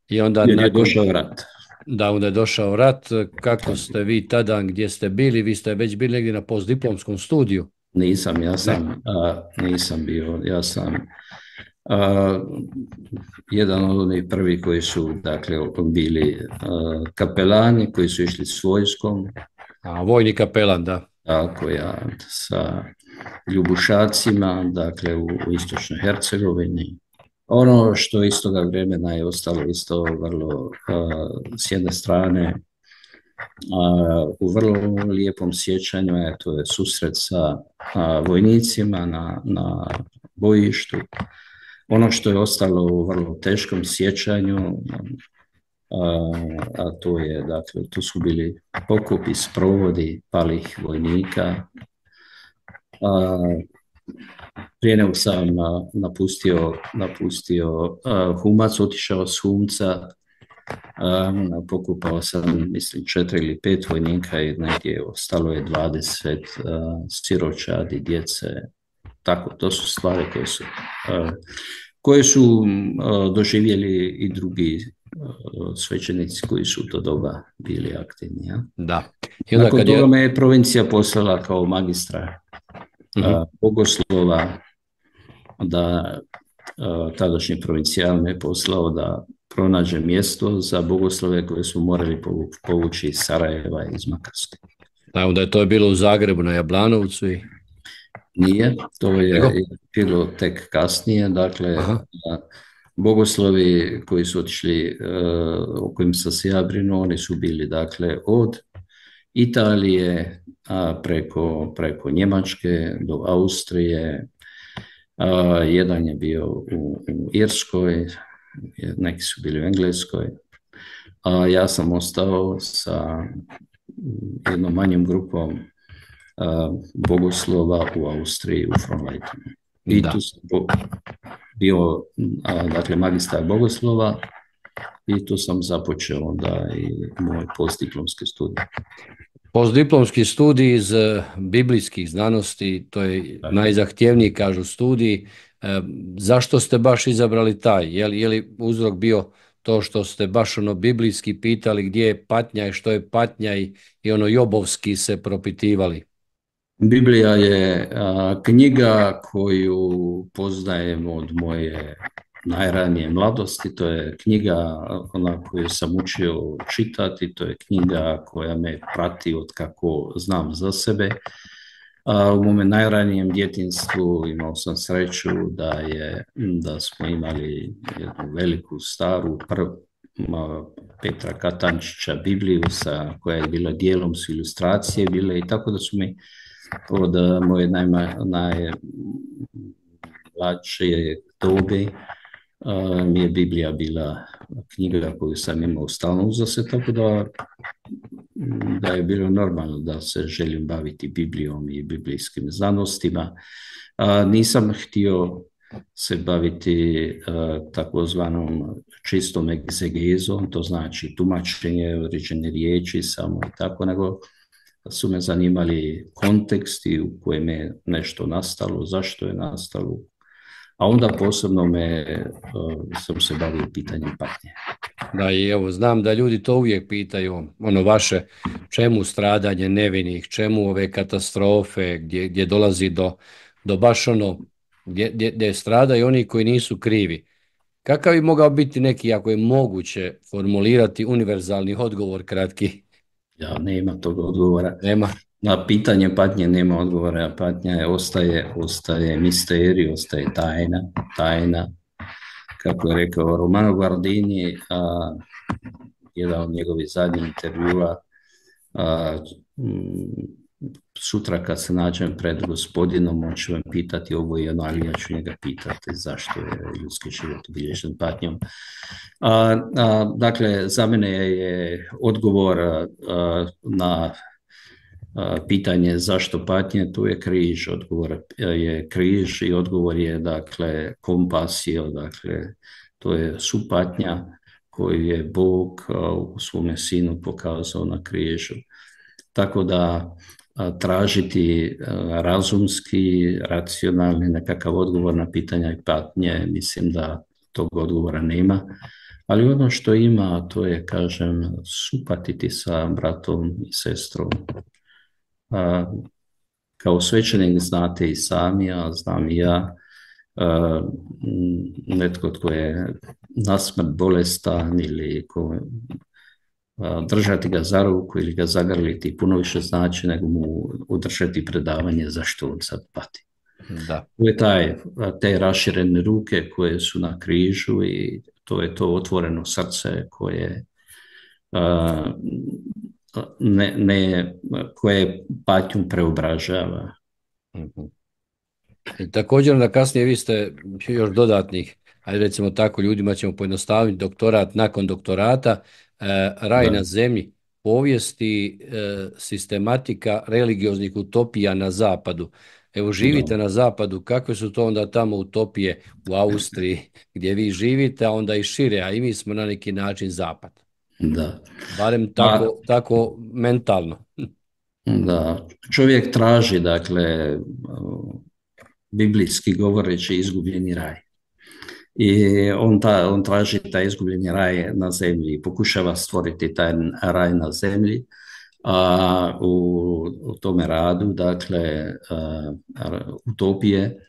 I onda je došao rat. Da, onda je došao rat. Kako ste vi tada, gdje ste bili? Vi ste već bili negdje na postdiplomskom studiju? Nisam bio. Ja sam jedan od onih prvi koji su, dakle, bili kapelani, koji su išli s vojskom. Vojni kapelan, da. Tako, sa Ljubušacima, dakle, u istočnoj Hercegovini. Ono što iz toga vremena je ostalo isto vrlo, s jedne strane, u vrlo lijepom sjećanju, to je susret sa vojnicima na bojištu. Ono što je ostalo u vrlo teškom sjećanju, a to je, dakle, tu su bili pokopi, sprovodi palih vojnika. Prije nego sam napustio Humac, otišao s Humca, pokupao sam, mislim, 4 ili 5 vojnika, i negdje ostalo je 20 siročadi, djece. Tako, to su stvari koje su doživjeli i drugi svećenici koji su u to doba bili aktivni. Ja? Da. Nakon toga me je provincija poslala kao magistra bogoslova, da tadašnji provincijal me je poslao da pronađe mjesto za bogoslove koje su morali povući iz Sarajeva i iz Makarske. Da, onda je to bilo u Zagrebu na Jablanovcu i... Nije, to je bilo tek kasnije, dakle, bogoslovi koji su otišli, o kojim sam se ja brinuo, oni su bili, dakle, od Italije, preko Njemačke do Austrije, jedan je bio u Irskoj, neki su bili u Engleskoj, a ja sam ostao sa jednom manjom grupom bogoslova u Austriji, u Fronleitenu. I tu sam bio, dakle, magistar bogoslova i tu sam započeo onda i moj postdiplomski studij. Postdiplomski studij iz biblijskih znanosti, to je najzahtjevniji, kažu, studij. Zašto ste baš izabrali taj? Je li uzrok bio to što ste baš biblijski pitali gdje je patnja i što je patnja i jobovski se propitivali? Biblija je knjiga koju poznajem od moje najranije mladosti. To je knjiga koju sam učio čitati, to je knjiga koja me prati od kako znam za sebe. U mome najranijem djetinjstvu imao sam sreću da smo imali jednu veliku, staru, Petra Katančića Bibliju koja je bila dijelom su ilustracije bile, i tako da su mi od moje najmlađe dobe mi je Biblija bila knjiga koju sam imao stalno uza se, tako da je bilo normalno da se želim baviti Biblijom i biblijskim znanostima. Nisam htio se baviti takozvanom čistom egzegezom, to znači tumačenje određene riječi samo i tako, nego su me zanimali konteksti u kojem je nešto nastalo, zašto je nastalo, a onda posebno sam se bavio pitanjem patnje. Da, i evo, znam da ljudi to uvijek pitaju, vaše, čemu stradanje nevinih, čemu ove katastrofe, gdje dolazi do baš gdje stradaju oni koji nisu krivi. Kakav bi mogao biti neki, ako je moguće formulirati, univerzalni odgovor kratki? Ja, nema tog odgovora. Nema. Na pitanje patnje nema odgovora. Patnja ostaje misterij, ostaje tajna. Kako je rekao Romano Guardini, jedan od njegovih zadnjih intervjua, sutra kad se nađem pred Gospodinom, on će me pitati ovo i ono, ali ja ću njega pitati zašto je ljudski život obilježen patnjom. Dakle, za mene je odgovor na pitanje zašto patnje, tu je križ, odgovor je križ i odgovor je, dakle, kompasio, dakle, to je supatnja koju je Bog u svome sinu pokazao na križu. Tako da tražiti razumski, racionalni nekakav odgovor na pitanja i patnje, mislim da tog odgovora nema. Ali ono što ima, to je, kažem, supatiti sa bratom i sestrom. Kao svećenik znate i sami, a znam i ja, netko tko je nasmrt bolestan ili držati ga za ruku ili ga zagrliti puno više znači nego mu održati predavanje zašto on sad pati. Da. To je te raširene ruke koje su na križu i to je to otvoreno srce koje koje patnju preobražava. I također da kasnije vi ste još dodatnih, ajde recimo tako, ljudima ćemo pojednostaviti doktorat nakon doktorata, raj na zemlji, povijesti, sistematika religioznih utopija na zapadu. Evo, živite na zapadu, kakve su to onda tamo utopije u Austriji gdje vi živite, a onda i šire, a i mi smo na neki način zapad. Da. Barem tako mentalno. Da, čovjek traži, dakle, biblijski govoreći, izgubljeni raj. I on traži taj izgubljeni raj na zemlji i pokušava stvoriti taj raj na zemlji. A u tome radu, dakle, utopije,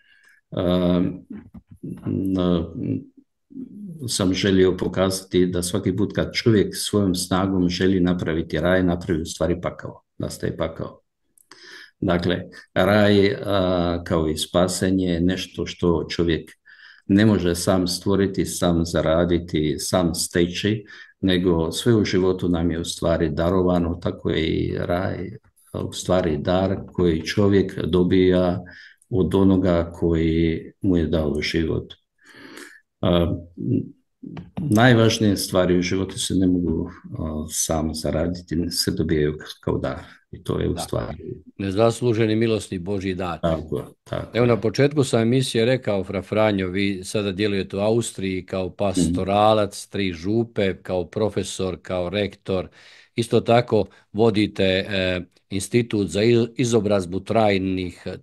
sam želio pokazati da svaki put kad čovjek svojom snagom želi napraviti raj, napravi u stvari pakao, nastaje pakao. Dakle, raj kao i spasenje je nešto što čovjek ne može sam stvoriti, sam zaraditi, sam steći, nego sve u životu nam je u stvari darovano, tako je i raj u stvari dar koji čovjek dobija od onoga koji mu je dao život. Najvažnije stvari u životu se ne mogu samo zaraditi, se dobijaju kao dar. I to je u stvari... Nezasluženi milosni Božji dar. Tako. Evo na početku sam emisije rekao, Fra Franjo, vi sada djelujete u Austriji kao pastoralac, 3 župe, kao profesor, kao rektor. Isto tako vodite institut za izobrazbu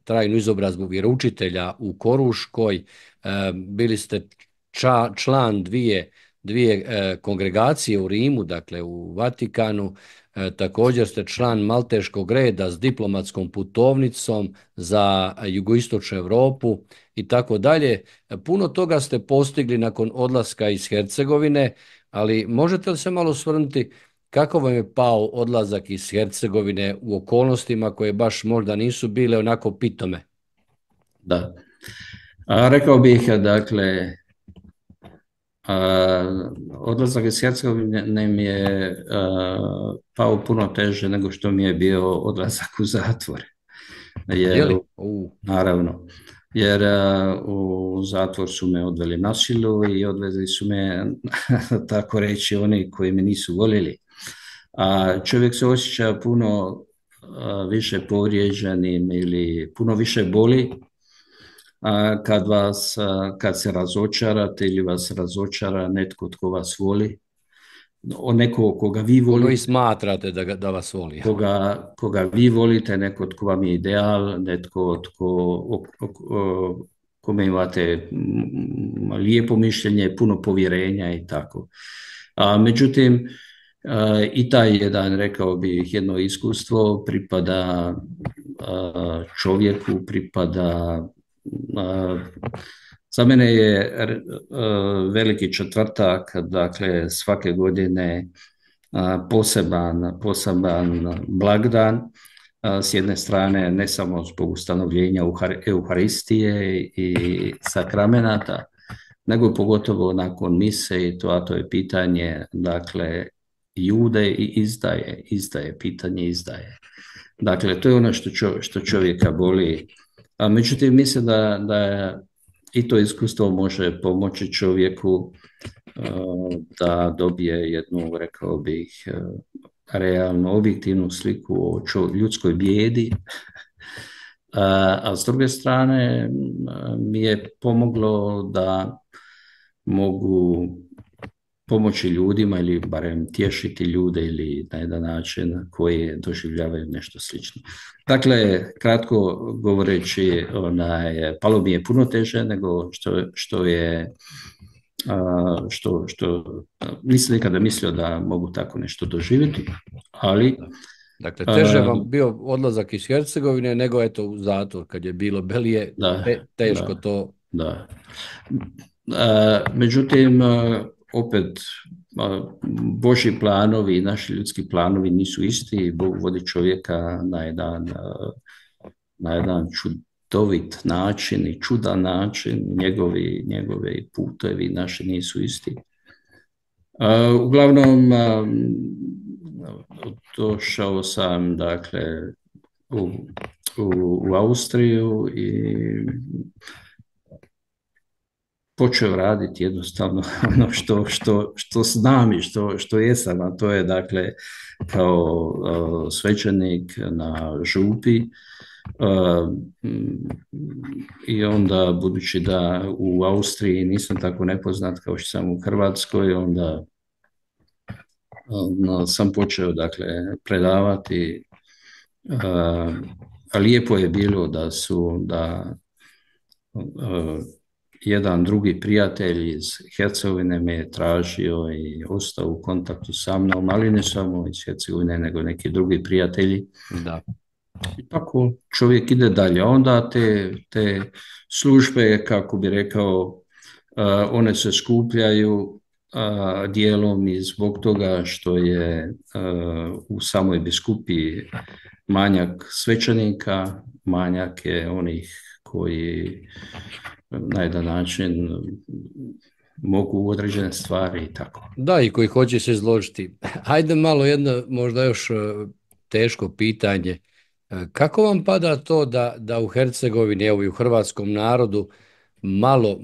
trajnu izobrazbu vjeroučitelja u Koruškoj. Bili ste član dvije kongregacije u Rimu, dakle u Vatikanu. Također ste član Malteškog reda s diplomatskom putovnicom za jugoistočnu Europu i tako dalje. Puno toga ste postigli nakon odlaska iz Hercegovine, ali možete li se malo osvrnuti kako vam je pao odlazak iz Hercegovine u okolnostima koje baš možda nisu bile onako pitome? Da. Rekao bih, dakle, odlazak iz Hercegovine mi je pao puno teže nego što mi je bio odlazak u zatvor. Naravno, jer u zatvor su me odveli na silu i odvezli su me, tako reći, oni koji me nisu voljeli. A čovjek se osjeća puno više povrijeđenim ili puno više boli kad se razočarate ili vas razočara netko tko vas voli, neko koga vi volite. Koji smatrate da vas voli. Koga vi volite, neko tko vam je ideal, netko kome imate lijepo mišljenje, puno povjerenja i tako. Međutim, i taj jedan, rekao bih, jedno iskustvo pripada čovjeku, pripada... Za mene je veliki četvrtak, dakle svake godine poseban blagdan, s jedne strane ne samo zbog ustanovljenja Euharistije i sakramenata, nego pogotovo nakon mise, a to je pitanje, dakle, Jude i izdaje, pitanje izdaje. Dakle, to je ono što čovjeka boli. Međutim, mislim da i to iskustvo može pomoći čovjeku da dobije jednu, rekao bih, realno objektivnu sliku o ljudskoj bijedi. A s druge strane mi je pomoglo da mogu pomoći ljudima ili barem tješiti ljude ili na jedan način koji doživljavaju nešto slično. Dakle, kratko govoreći, palo mi je puno teže nego što nisam nikada mislio da mogu tako nešto doživjeti, ali... Dakle, teže vam bio odlazak iz Hercegovine nego eto u zatvor kad je bilo belije, teško to... Da. Međutim, opet, Božji planovi i naši ljudski planovi nisu isti. Bog vodi čovjeka na jedan čudovit način i čudan način. Njegovi putevi naši nisu isti. Uglavnom, došao sam, dakle, u Austriju i počeo raditi jednostavno ono što znam i što jesam, a to je, dakle, kao svećenik na župi. I onda, budući da u Austriji nisam tako nepoznat kao što sam u Hrvatskoj, onda sam počeo, dakle, predavati. Lijepo je bilo da jedan drugi prijatelj iz Hercegovine me je tražio i ostao u kontaktu sa mnom, ali ne samo iz Hercegovine, nego neki drugi prijatelji. Da. I tako čovjek ide dalje. Onda te službe, kako bi rekao, one se skupljaju dijelom i zbog toga što je u samoj biskupiji manjak svećenika, manjak je onih koji na jedan način mogu određene stvari i tako. Da, i koji hoće se izložiti. Hajde malo jedno možda još teško pitanje. Kako vam pada to da u Hercegovini, evo i u hrvatskom narodu,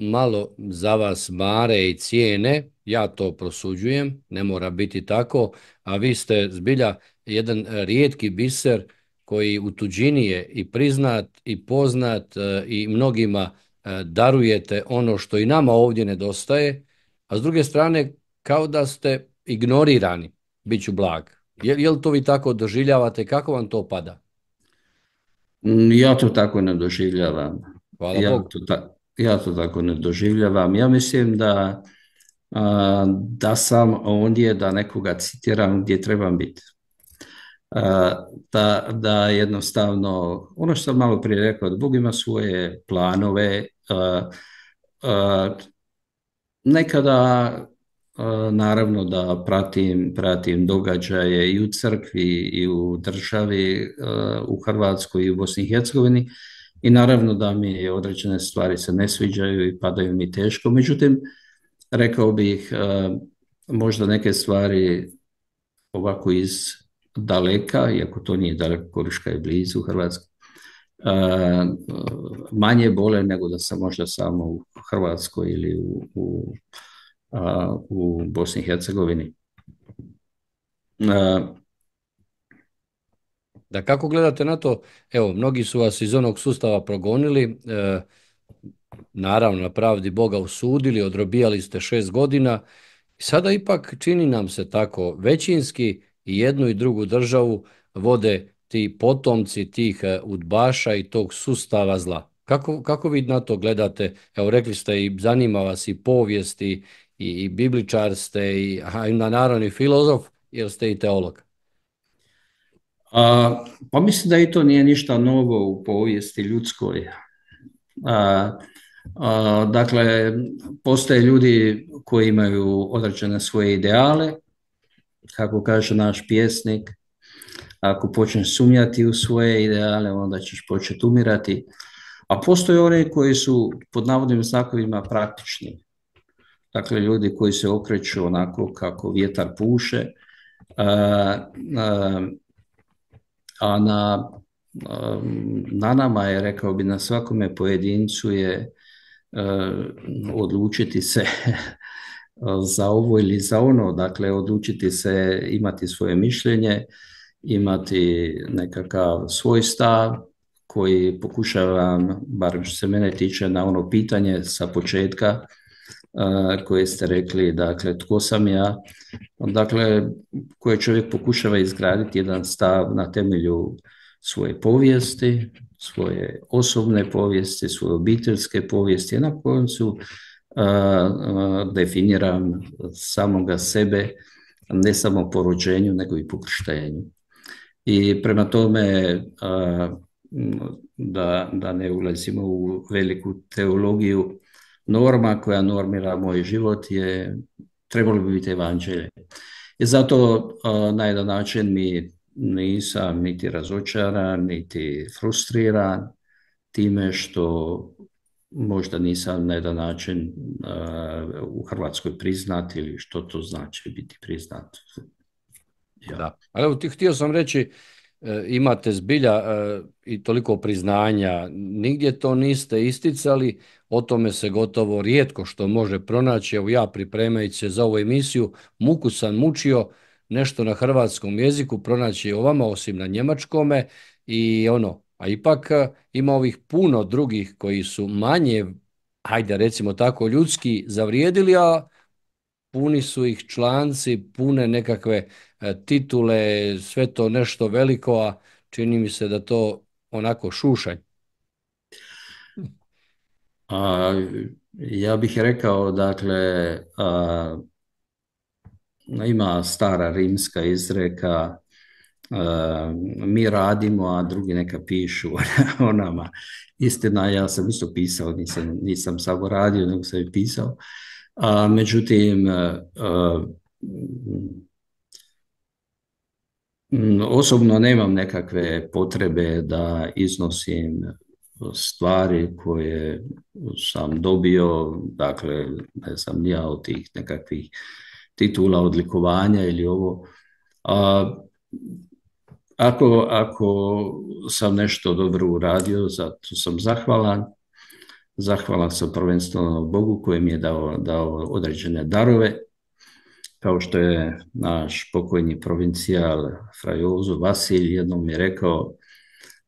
malo za vas mare i cijene, ja to prosuđujem, ne mora biti tako, a vi ste zbilja jedan rijetki biser koji u tuđini je i priznat i poznat i mnogima darujete ono što i nama ovdje nedostaje, a s druge strane kao da ste ignorirani, bit ću blag. Je li to vi tako doživljavate? Kako vam to pada? Ja to tako ne doživljavam. Hvala Ja Bogu. to, ja to tako ne doživljavam. Ja mislim da sam ondje da nekoga citiram gdje trebam biti. Da jednostavno, ono što sam malo prije rekao, da Bog ima svoje planove. Nekada naravno da pratim događaje i u crkvi i u državi, u Hrvatskoj i u Bosni i Hercegovini, i naravno da mi određene stvari se ne sviđaju i padaju mi teško. Međutim, rekao bih možda neke stvari ovako iz daleka, iako to nije daleko, Koruška je blizu Hrvatske, manje bole nego da sam možda samo u Hrvatskoj ili u Bosni i Hercegovini. Da, kako gledate na to? Evo, mnogi su vas iz onog sustava progonili, naravno na pravdi Boga osudili, odrobijali ste 6 godina i sada ipak čini nam se tako većinski i jednu i drugu državu vode ti potomci tih udbaša i tog sustava zla. Kako vi na to gledate? Evo, rekli ste i zanima vas i povijest i bibličar ste i naravno i filozof, jer ste i teolog. Pa mislim da i to nije ništa novo u povijesti ljudskoj. Dakle, postoje ljudi koji imaju određene svoje ideale, kako kaže naš pjesnik, ako počneš sumnjati u svoje ideale, onda ćeš početi umirati. A postoje oni koji su pod navodnim znakovima praktični. Dakle, ljudi koji se okreću onako kako vjetar puše, a na nama je, rekao bi, na svakome pojedincu je odlučiti se za ovo ili za ono, dakle odlučiti se, imati svoje mišljenje, imati nekakav svoj stav koji pokušavam, barem što se mene tiče, na ono pitanje sa početka koje ste rekli, dakle tko sam ja, dakle koje čovjek pokušava izgraditi jedan stav na temelju svoje povijesti, svoje osobne povijesti, svoje obiteljske povijesti, a na koncu definiram samoga sebe, ne samo po rođenju, nego i po krštenju. I prema tome, da ne ulazimo u veliku teologiju, norma koja normira moj život trebalo bi biti evanđelje. I zato na jedan način mi nisam niti razočaran, niti frustriran time što možda nisam na jedan način u Hrvatskoj priznat, ili što to znači biti priznat. Ja. Da. Ali evo, htio sam reći, imate zbilja i toliko priznanja, nigdje to niste isticali, o tome se gotovo rijetko što može pronaći. Evo, ja pripremajući se za ovu emisiju, muku sam mučio nešto na hrvatskom jeziku pronaći o vama, osim na njemačkome, i a ipak ima ovih puno drugih koji su manje, hajde recimo tako, ljudski zavrijedili, a puni su ih članci, pune nekakve titule, sve to nešto veliko, a čini mi se da to onako šušanj. Ja bih rekao, dakle, ima stara rimska izreka, mi radimo, a drugi neka pišu o nama. Istina, ja sam isto pisao, nisam samo radio, nego sam i pisao. Međutim, osobno nemam nekakve potrebe da iznosim stvari koje sam dobio, dakle, ne znam, ja od tih nekakvih titula, odlikovanja ili ovo. A, ako sam nešto dobro uradio, zato sam zahvalan. Zahvalan sam prvenstveno Bogu koji mi je dao određene darove, kao što je naš pokojni provincijal fra Jozo Vasilj jednom mi je rekao: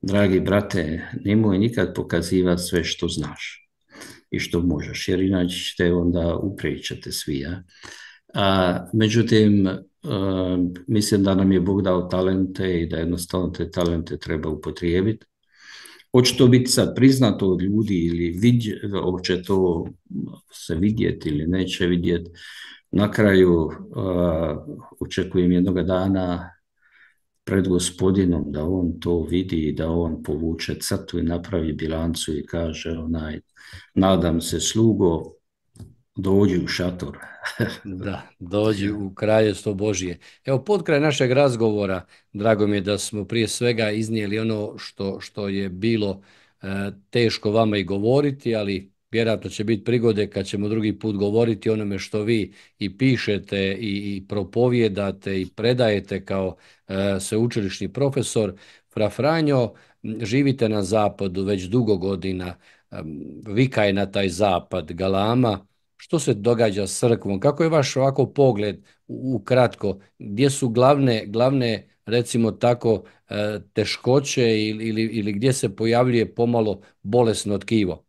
dragi brate, nemoj nikad pokazivati sve što znaš i što možeš, jer inače ćete onda upričati svi. Ja? Međutim, mislim da nam je Bog dao talente i da jednostavno te talente treba upotrijebiti. Hoće to biti sad priznato od ljudi ili hoće to se vidjeti ili neće vidjeti. Na kraju očekujem jednoga dana pred Gospodinom da on to vidi i da on povuče crtu i napravi bilancu i kaže nadam se slugo, dođi u šator. Da, dođi u kraljestvo Božje. Evo, potkraj našeg razgovora, drago mi je da smo prije svega iznijeli ono što je bilo teško vama i govoriti, ali vjerojatno će biti prigode kad ćemo drugi put govoriti o onome što vi i pišete i propovijedate i predajete kao sveučilišni profesor. Fra Franjo, živite na zapadu već dugo godina, vika je na taj zapad, galama. Što se događa s crkvom? Kako je vaš ovako pogled ukratko? Gdje su glavne recimo tako teškoće ili gdje se pojavljuje pomalo bolesno tkivo?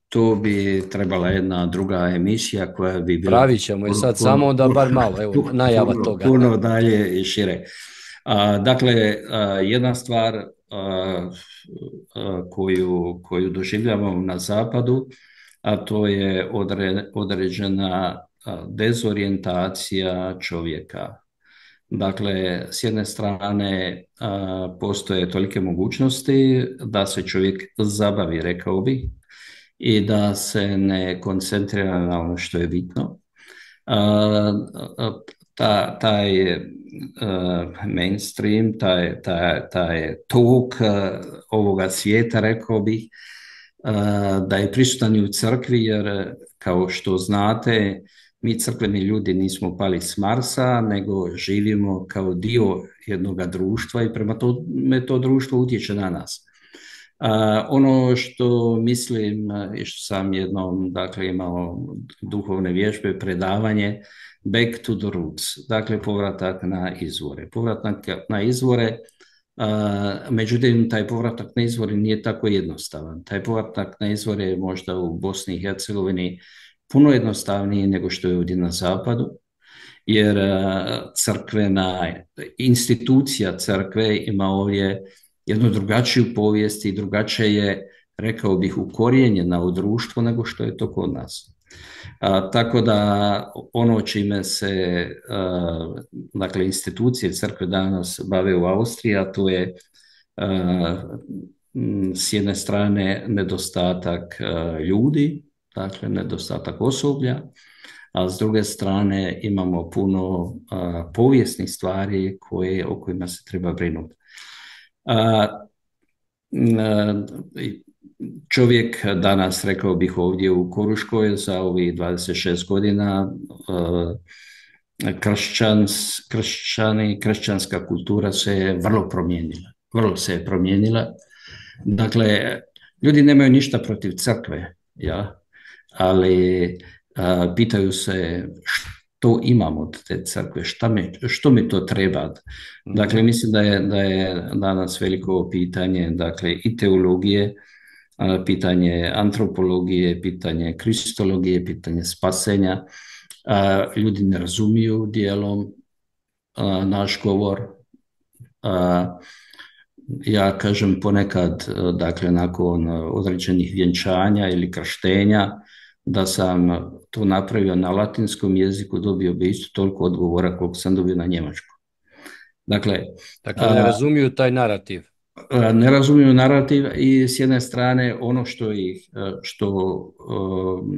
To bi trebala jedna druga emisija koja bi bila... Pravit ćemo je sad samo onda bar malo, evo, najava toga. Puno dalje i šire. Dakle, jedna stvar koju doživljavamo na zapadu, a to je određena dezorijentacija čovjeka. Dakle, s jedne strane postoje tolike mogućnosti da se čovjek zabavi, rekao bih, i da se ne koncentrira na ono što je bitno. Taj mainstream, taj tok ovoga svijeta, rekao bih, da je prisutan i u crkvi, jer kao što znate, mi crkveni ljudi nismo pali s Marsa, nego živimo kao dio jednog društva i prema tome to društvo utječe na nas. Ono što mislim i što sam jednom, dakle, imao duhovne vježbe, predavanje Back to the Roots, dakle povratak na izvore. Povratak na izvore, međutim taj povratak na izvore nije tako jednostavan. Taj povratak na izvore je možda u Bosni i Hercegovini puno jednostavniji nego što je ovdje na zapadu, jer crkvena institucija crkve ima ovdje jednu drugačiju povijest i drugačije je, rekao bih, ukorijenjena u društvo nego što je to kod nas. Tako da ono čime se dakle, institucije crkve danas bave u Austriji, a to je s jedne strane nedostatak ljudi, dakle nedostatak osoblja, a s druge strane imamo puno povijesnih stvari o kojima se treba brinuti. Čovjek danas, rekao bih, ovdje u Koruškoj za ovih 26 godina kršćanska kultura se je vrlo se je promijenila. Dakle, ljudi nemaju ništa protiv crkve, ja, ali pitaju se što imamo od te crkve, što mi to treba. Dakle, mislim da je danas veliko pitanje, dakle, i teologije, pitanje antropologije, pitanje kristologije, pitanje spasenja. Ljudi ne razumiju dijelom naš govor. Ja kažem ponekad, dakle, nakon određenih vjenčanja ili krštenja, da sam to napravio na latinskom jeziku, dobio bi isto toliko odgovora koliko sam dobio na njemačkom. Dakle, ne razumiju taj narativ. Ne razumiju narativ i s jedne strane ono što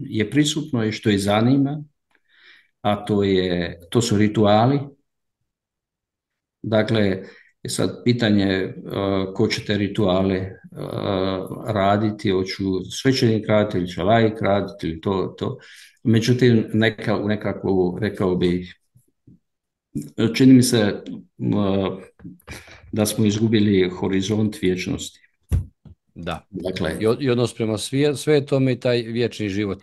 je prisutno i što ih zanima, a to su rituali. Dakle, I sad pitanje ko će te rituale raditi, hoću svećenik raditi ili će laik raditi ili to. Međutim, u nekakvu, rekao bih, čini mi se da smo izgubili horizont vječnosti. Da. Dakle, I odnos prema svetome i taj vječni život.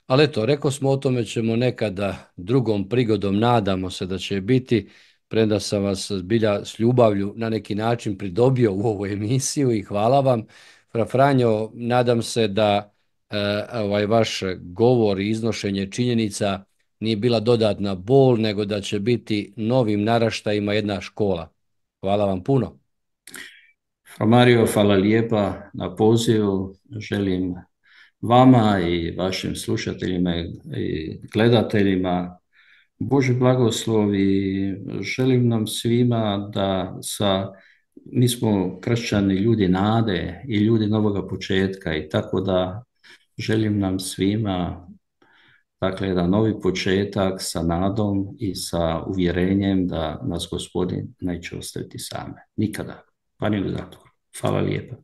Ali eto, rekao smo o tome ćemo nekada drugom prigodom, nadamo se da će biti, premda sam vas zbilja s ljubavlju na neki način pridobio u ovu emisiju i hvala vam. Fra Franjo, nadam se da ovaj vaš govor i iznošenje činjenica nije bila dodatna bol, nego da će biti novim naraštajima jedna škola. Hvala vam puno. Mario, hvala lijepa na pozivu. Želim vama i vašim slušateljima i gledateljima Boži blagoslov i želim nam svima da mi smo kršćani ljudi nade i ljudi novoga početka i tako da želim nam svima dakle jedan novi početak sa nadom i sa uvjerenjem da nas Gospodin neće ostaviti same. Nikada. Pa ni u zatvoru. Hvala lijepa.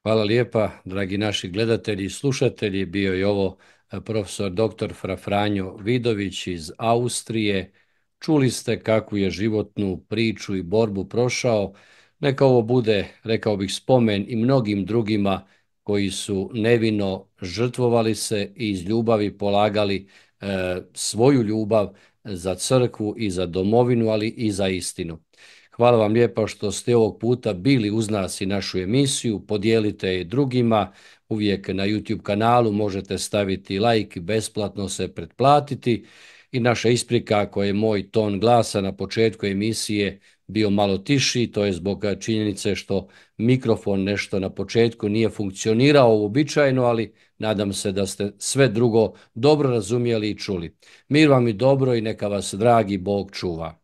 Hvala lijepa, dragi naši gledatelji i slušatelji. Bio je ovo profesor dr. Fra Franjo Vidović iz Austrije. Čuli ste kakvu je životnu priču i borbu prošao. Neka ovo bude, rekao bih, spomen i mnogim drugima koji su nevino žrtvovali se i iz ljubavi polagali svoju ljubav za crkvu i za domovinu, ali i za istinu. Hvala vam lijepa što ste ovog puta bili uz nas i našu emisiju. Podijelite je drugima. Uvijek na YouTube kanalu možete staviti like, besplatno se pretplatiti. I naša isprika ako je moj ton glasa na početku emisije bio malo tiši, to je zbog činjenice što mikrofon nešto na početku nije funkcionirao uobičajeno, ali nadam se da ste sve drugo dobro razumjeli i čuli. Mir vam i dobro i neka vas dragi Bog čuva.